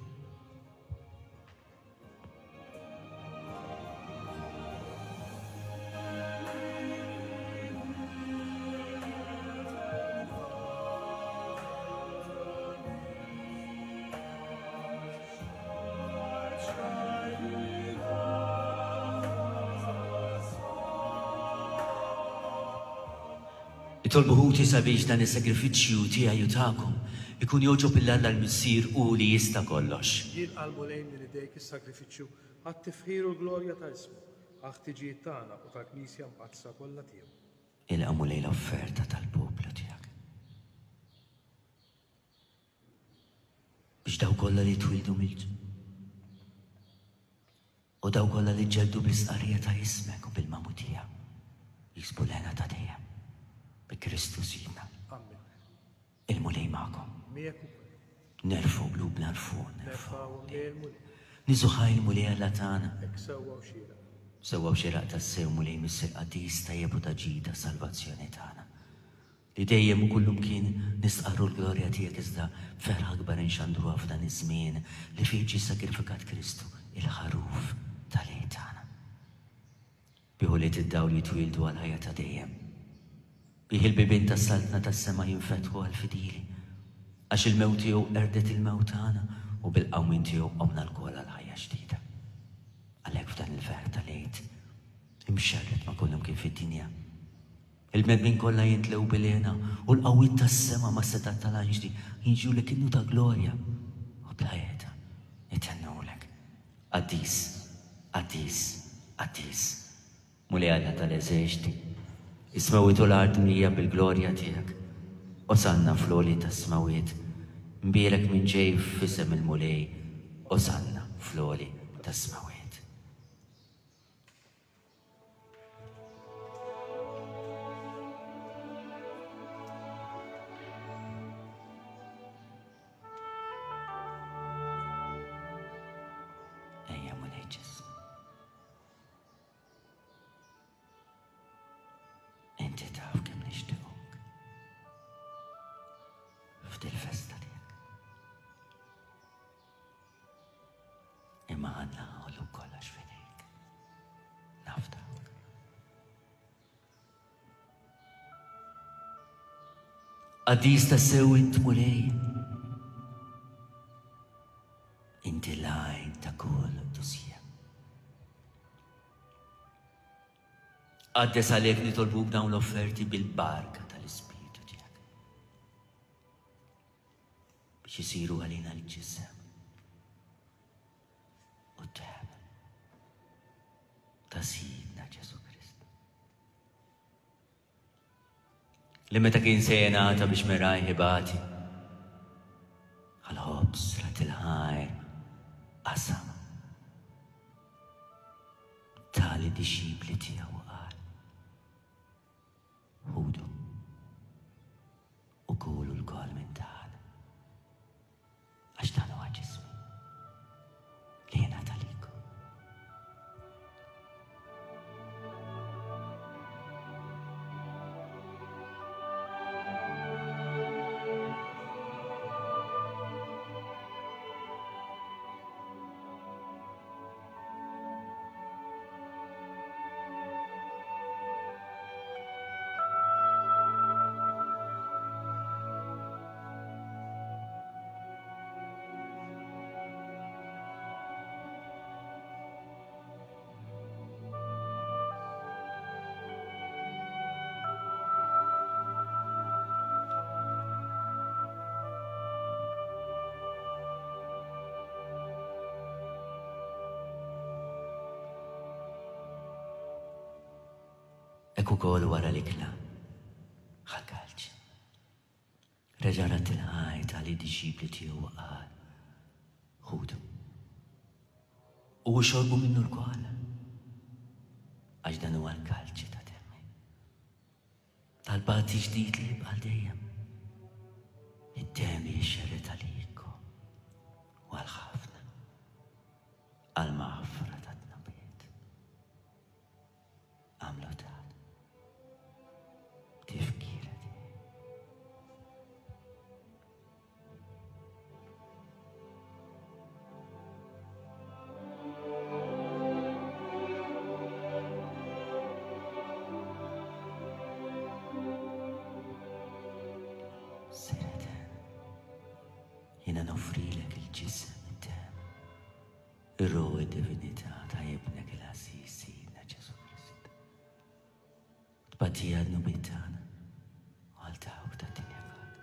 Itolbu ħuti sabiex dan is-sagrifiċċju tiegħi u tagħkom ikun jogħġob lil Alla l-Missier u li jista' kollox. Jilqa' l-Mulej minn idejk is-sagrifiċċju għat-tifħir u l-glorja ta' ismu, għall-ħtiġijiet tagħna u tal-Knisja mqaddsa kollha tiegħu. Ilqa' Mulej l-offerta tal-poplu tiegħek. Biex daw kollha li twildu mill u daw kollha li ġġeldu bl-isqarrija ta' ismek u bil-magħmudija jiksbu l-hena ta' dejjem. Bi Kristu Sidna. Amen. Il-Mulej magħkom. Miegħek ukoll. Nerfgħu qlubna 'l fuq, Nerfgħu lejn il-Mulej. Niżżu ħaj il-Mulej Alla tagħna. Hekk sewwa u xieraq. Sewwa u xieraq tassew Mulej Missier qaddis tajjeb u ta' ġid tas-salvazzjoni tagħna. Li dejjem u kullumkien nistqarru l-glorja tiegħek iżda b'ferħ akbar inxandruha f'dan iż-żmien li fih ġie sagrifikat Kristu, il-ħaruf tal-għid tagħna. Bih ulied id-dawl jitwieldu għall-ħajja ta' dejjem. Bih il-bibien tas-saltna tas-sema jinfetħu għall-fidili. Għax il-mewt tiegħu qerdet il-mewt tagħna u bil-qawmien tiegħu qomna lkoll għal ħajja ġdida. Għalhekk f'dan il-ferħ tal-għid imxerred ma' kullum kien fid-dinja. Il-bnedmin kollha jintlew bil-hena u l-qawwiet tas-sema ma' setat tal-anġli jinġulek innu ta' glorja u bla qiegħda jitennulek. Qaddis, qaddis, qaddis, Mulej Alla tal-eżerċti, is-smewwiet u l-art mlija bil-glorja tiegħek. Osanna fl-għoli tas-smewwiet, mbierek minn ġej f'isem il-Mulej, Osanna fl-għoli tas-smewwiet. Ejja Mulej Ġesù. Inti taf kemm nixtiequk f'dil-festa tiegħek. Imma għandna ħollu kollox f'idejk. Nafdawk. Qaddis tassew int Mulej. Inti l-għajn ta' kull qdusija. Qaddes għalek nitolbuk dawn l-offerti bil-barka tal-Ispirtu tiegħek. Biex isiru għalina l-ġisem u d-demm ta' Sidna Ġesù Kristu. Li meta kien se jingħata biex merajh ibati, għal-ħobż rat il-ħajr qasam tali dixxipli tiegħu qal: Ħudu u kulu lkoll minn dan, għax dan huwa ġismi li jingħata lilkom. Hekk ukoll wara l-ikla, ħa l-kalċi. Reġa' radd il-ħajr għalid-dixxipli tiegħu u qal: Ħudu u xorbu minnu lkoll, għax dan huwa l-kalċi ta' demmi, tal-patt ġdid li jibqa' dejjem. Id-demm jixxerred għalikom u għal ħafna għall-maħfra tad-dnubiet. Agħmlu dan b'tifkira tiegħi. Missier etern, jiena noffrilek il-ġisem, id-demm, ir-ruħ u d-divinità ta' Ibnek il-għażiż Sidna Ġesù Kristu. Tbatija dnubiet tagħna u għal dawk tad-dinja kollha.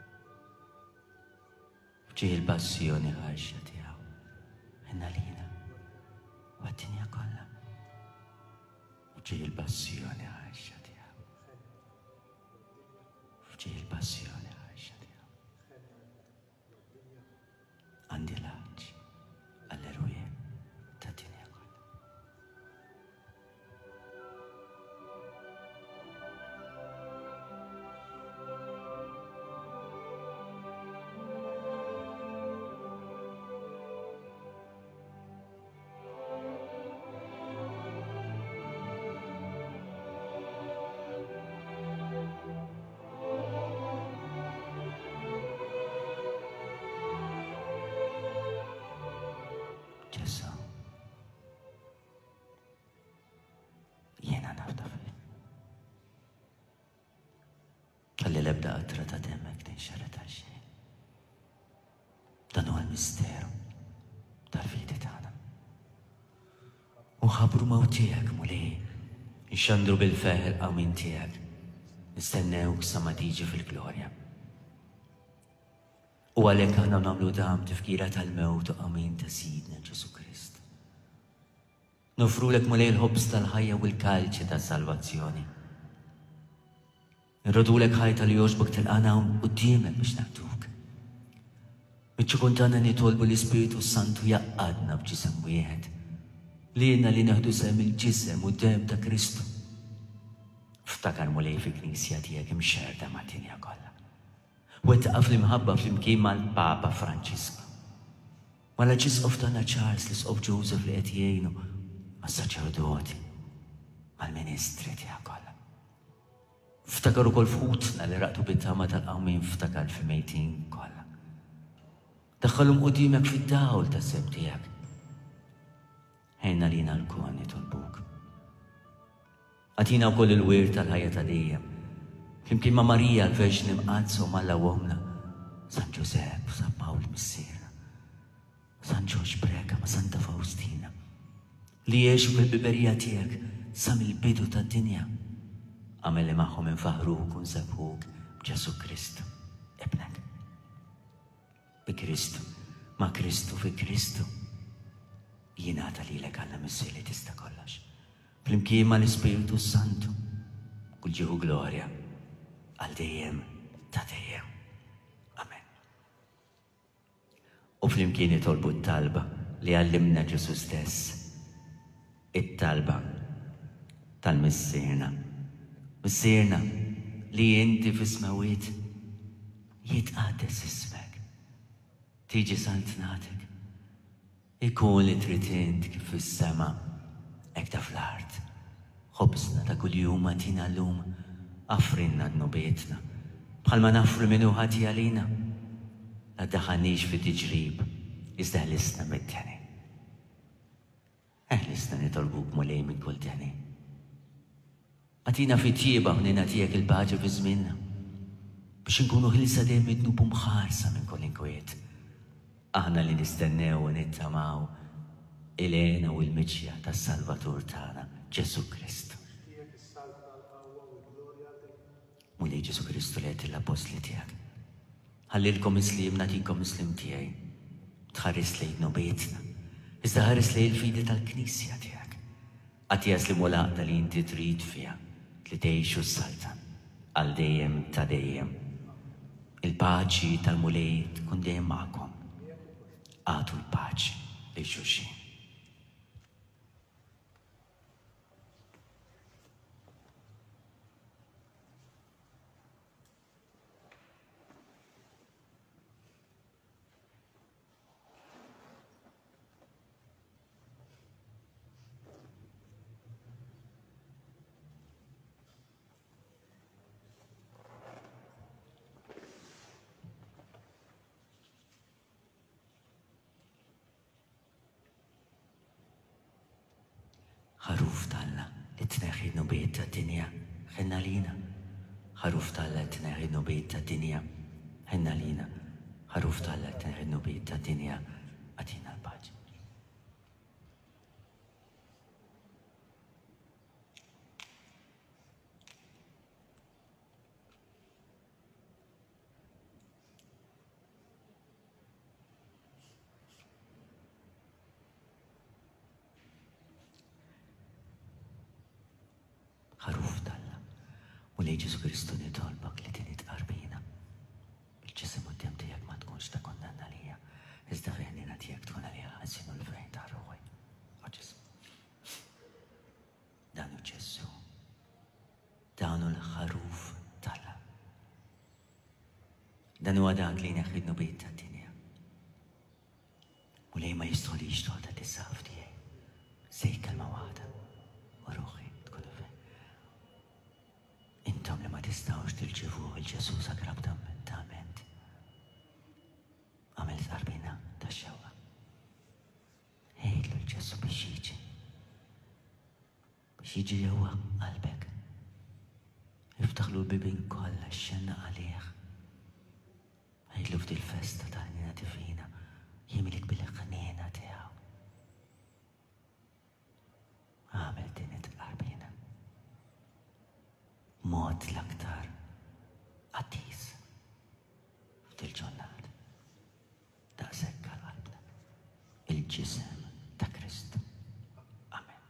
F'ġieħ il-passjoni ħarxa tiegħu, ħenn għalina u għad-dinja kollha. F'ġieħ il-passjoni ħarxa tiegħu. F'ġieħ il-passjoni ħarxa tiegħu. Għandi l-għatx għall-erwieħ tad-dinja kollha. Ġesù, jiena nafda fik. Ħalli l-ebda qatra ta' demmek tinxerred għal xejn. Dan huwa l-misteru tal-fidi tagħna. U nħabbru mewt tiegħek, Mulej, nxandru bil-ferħ il-qawmien tiegħek, nistennewk sa ma tiġi fil-glorja. U għalhekk aħna nagħmlu dan b'tifkira tal-mewt u qawmien ta' Sidna Ġesù Krist. Noffrulek, Mulej, il-ħobż tal-ħajja u l-kalċi tas-salvazzjoni. Nroddulek ħajr talli jogħġbok tilqagħna quddiemek biex naqduk. Miċ-ċokon tagħna nitolbu l-Ispiritu Santu jgħaqqadna b'ġisem wieħed, lilna li nieħdu sehem il-ġisem u d-demm ta' Kristu. Ftakar, Mulej, fil-Knisja tiegħek imxerrda mad-dinja kollha. Wettaqha fl-imħabba flimkien mal-Papa Franġisku, mal-Arċisqof tagħna Charles, l-Isqof Joseph li qed jgħinu, mas-saċerdoti, mal-ministri tiegħek kollha. Ftakar ukoll f'ħutna li raqdu bit-tama tal-qawmien, ftakar fil-mejtin kollha. Daħħalhom quddiemek fid-dawl tas-sebħ tiegħek. Ħenn għalina lkoll nitolbuk. Agħtina wkoll il-wirt tal-ħajja ta' dejjem. Flimkien ma' Marija l-Verġni Mqaddsa u m'Alla Ommna, San Ġużepp, San Pawl Missierna, San Ġorġ Preca ma' Santa Faustina, li għexu fil-ħbiberija tiegħek sa mill-bidu tad-dinja. Agħmel li magħhom infaħħruk u nsebbħuk b'Ġesù Kristu, Ibnek. Bi Kristu, ma' Kristu, fi Kristu, jingħata lilek Alla Missier li tista' kollox. Flimkien mal-Ispiritu Santu, kull ġieħ u glorja għal dejjem ta' dejjem. Amen. U flimkien nitolbu t-talba li għallimna Ġesù stess, it-talba tal-Missierna. Missierna li inti fis-smawiet, jitqaddes ismek, tiġi saltnatek, ikun li trid int kif fis-sema, hekk ta' fl-art. Ħobżna ta' kuljum agħtina llum, aħfrilna dnubietna, bħalma naħfru min hu ħati għalina. La ddaħħalniex fi tiġrib, iżda eħlisna mid-deni. Eħlisna nitolbuk, Mulej, minn kull deni. Agħtina fit-tjieba u ħniena tiegħek il-paċi fi żmienna, biex inkunu ħielsa dejjem mid-dnub u mħarsa minn kull inkwiet. Aħna li nistennew u nittamaw il-hena u l-miġja tas-Salvatur tagħna, Ġesù Kristu. Mulej Ġesù Kristu li għedt lill-appostli tiegħek, Ħallilkom is-sliem, nagħtikom is-sliem tiegħi. Tħares lejn dnubietna, iżda ħares lejn il-fidi tal-Knisja tiegħek. Agħtiha s-sliem u l-għaqda li inti trid fiha, li tgħix u ssaltan għal dejjem ta' dejjem. Il-paċi tal-Mulej tkun dejjem magħkom. Agħtu l-paċi lil xulxin. Ħaruf t'Alla li tneħħi d-dnubiet tad-dinja, ħenn għalina. Ħaruf t'Alla li tneħħi d-dnubiet tad-dinja, ħenn għalina. Ħaruf t'Alla li tneħħi d-dnubiet tad-dinja, agħtina l-paċi. Ħaruf t'Alla, Mulej Ġesù Kristu nitolbok li din it-tqarbina. Il-ġisem u d-demm tiegħek ma tkunx ta' kundanna għalija, iżda fil-ħniena tiegħek tkun għalija ħażin u l-fejn ta' ruħi. O Ġesù. Dan hu Ġesù. Dan hu l-ħaruf t'Alla. Dan huwa dak li jneħħi d-dnubiet tad-dinja. Mulej ma jistħolix toqgħod għat-tisaf tiegħi. Sejt kelma waħda u ruħi tkun fejn. Intom li ma tistgħux tirċivuh il-Ġesù sagramentament. Għamel tqarbina tax-xewqa. Għidlu l-Ġesù biex jiġi. Biex jiġi ġewwa qalbek. Iftaħlu l-bibien kollha xxenna għalih. Għidlu f'dil festa ta' ħniena divina jimlik bil-ħniena tiegħu. Għamel din it-tqarbina. Mod l-aktar qaddis f'dil-ġurnata. Daqshekk għal qalbna. Il-ġisem ta' Kristu. Amen.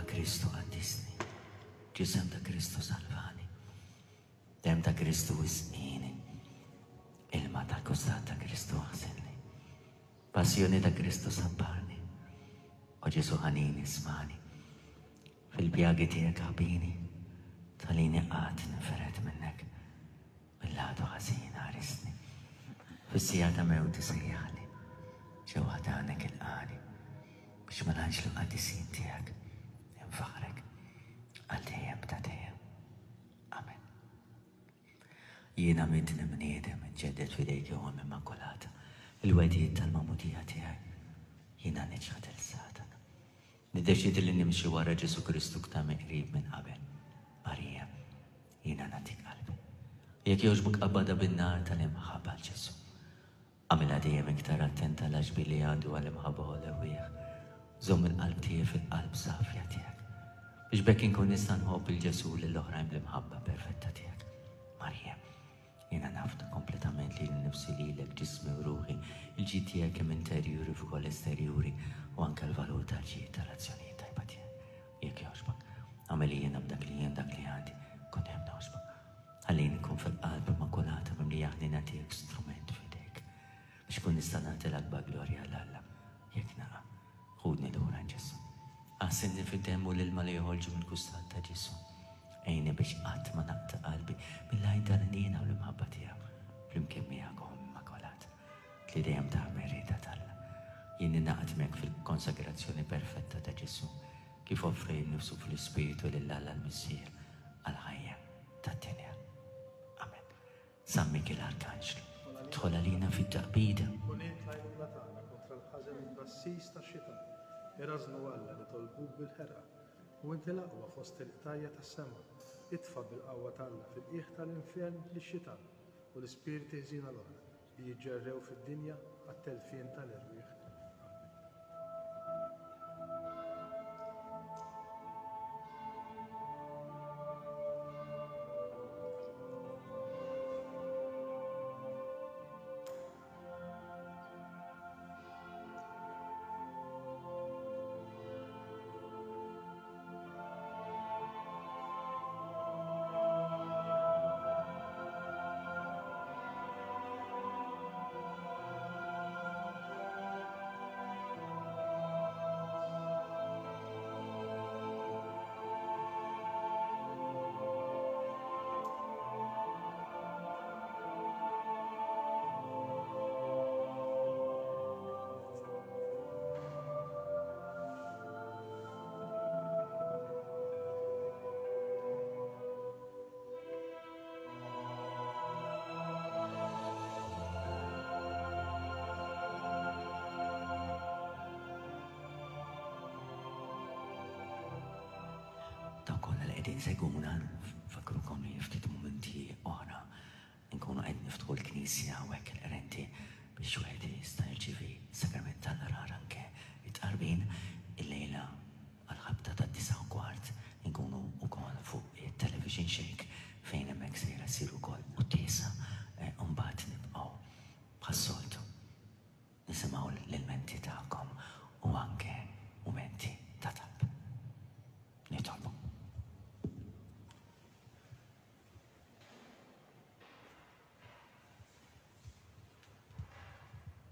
Kristu qaddisni, Ġisem ta' Kristu salvani, Demm ta' Kristu isqini, Ilma tal-kustat ta' Kristu aħsilni, Passjoni ta' Kristu sabbarni, O Ġesù ħanin ismagħni, fil-pjagi tiegħek ħabini, tħallini qatt ninfered minnek, mill-għadu ħażin ħarisni, fis-siegħa ta' mewti sejjaħli, ġewwa ħdanek ilqani, biex mal-anġlu qaddisin tiegħek infaħrek għal dejjem ta' dejjem. Amen. Jiena midneb bniedem inġedded f'idejk o Omm Immakulata, il-wegħdiet tal-magħmudija tiegħi. Jiena niċħad lil Satana. Niddeċidi li nimxi wara Ġesù Kristu iktar mill-qrib minn qabel. Marija, jiena nagħtik qalbi. Jekk jogħġbok qabbadha bin-nar tal-imħabba għal Ġesù. Agħmilha dejjem iktar attenta għall-għaġbi li għandu għall-imħabba u l-erwieħ. Żomm il-qalb tiegħi fil-qalb safja tiegħek. Biex b'hekk inkun nista' nħobb lil Ġesù lill-oħrajn bl-imħabba perfetta tiegħek. Marija, jiena nafda kompletament lili nnifsi lilek, ġismi u ruħi, il-ġid tiegħek kemm interjuri kif ukoll esterjuri u anke l-valur tal-ġid tal-azzjonijiet tajba tiegħek. Jekk jogħġbok, agħmel li jiena b'dak li jien dak li għandi, nkun dejjem nogħġbok. Ħallini nkun fil-qalb immakulata mimlija ħniena tiegħek strument f'idejk biex nkun nista' nagħti l-akbar glorja 'l Alla jekk naqa'. Ħudni lura Ġesù. Aħsilni fid-demm u l-ilma li joħorġu mill-kustat ta' Ġesù. Għinni biex qatt ma naqta' qalbi mill-għajn tal-ħniena u l-imħabba tiegħu flimkien miegħek Omm Immakulata li dejjem tagħmel rieda t'Alla. Jien ningħaqad miegħek fil-konsagrazzjoni perfetta ta' Ġesù kif offri nnifsu fl-Ispirtu lil Alla l-Missier għall-ħajja tad-dinja. Amen. San Mikiel Arkanġlu, dħol għalina fit-taqbida. Kun int l-għajnuna tagħna kontra l-ħażen u t-tgħassis tax-xitan. Irażżnu Alla nitolbuk bil-ħerqa. U inti l-aqwa fost il-qtajja tas-sema. Itfa' bil-qawwa t'Alla fil-qiegħ tal-infern lix-xitan u l-ispirti ħżiena l-oħra li jiġġerrew fid-dinja għat-telfien tal-erwieħ. Dawk kollha li qegħdin seguna, fakrukom li ftit mumenti oħra nkunu qed niftħu l-knisja u hekk il-qrenti biex wieħed jista' jirċievi sagrament tal-qrar anke it-tqarbin illejla għal-ħabta ta' disa' u kwart nkunu wkoll fuq it-television shake fejn hemmhekk sejra ssir ukoll quddiesa u mbagħad nibqgħu bħas-soltu nisimgħu l-ilmenti tagħkom u anke mumenti ta' talb. Nitolbu.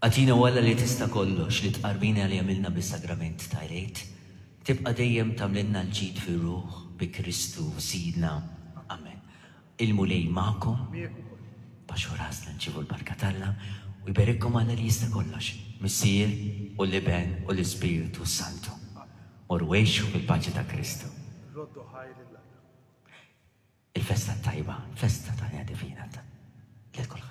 Agħtina o Alla li tista' kollox li tqarbina li għamilna bis-sagrament ta' Għid, tibqa' dejjem tagħmlilna l-ġid fir-ruħ bi Kristu Sidna. Amen. Il-Mulej magħkom. Baxxu rasna nċievu l-barka t'Alla u jberikkom Alla li jista' kollox, Missier u l-Iben u l-Ispirtu Santu. Morru għixu fil-paċi ta' Kristu. Roddu ħajr lil Alla. Il-festa tajba, festa ta' Divina ta' lil kulħadd.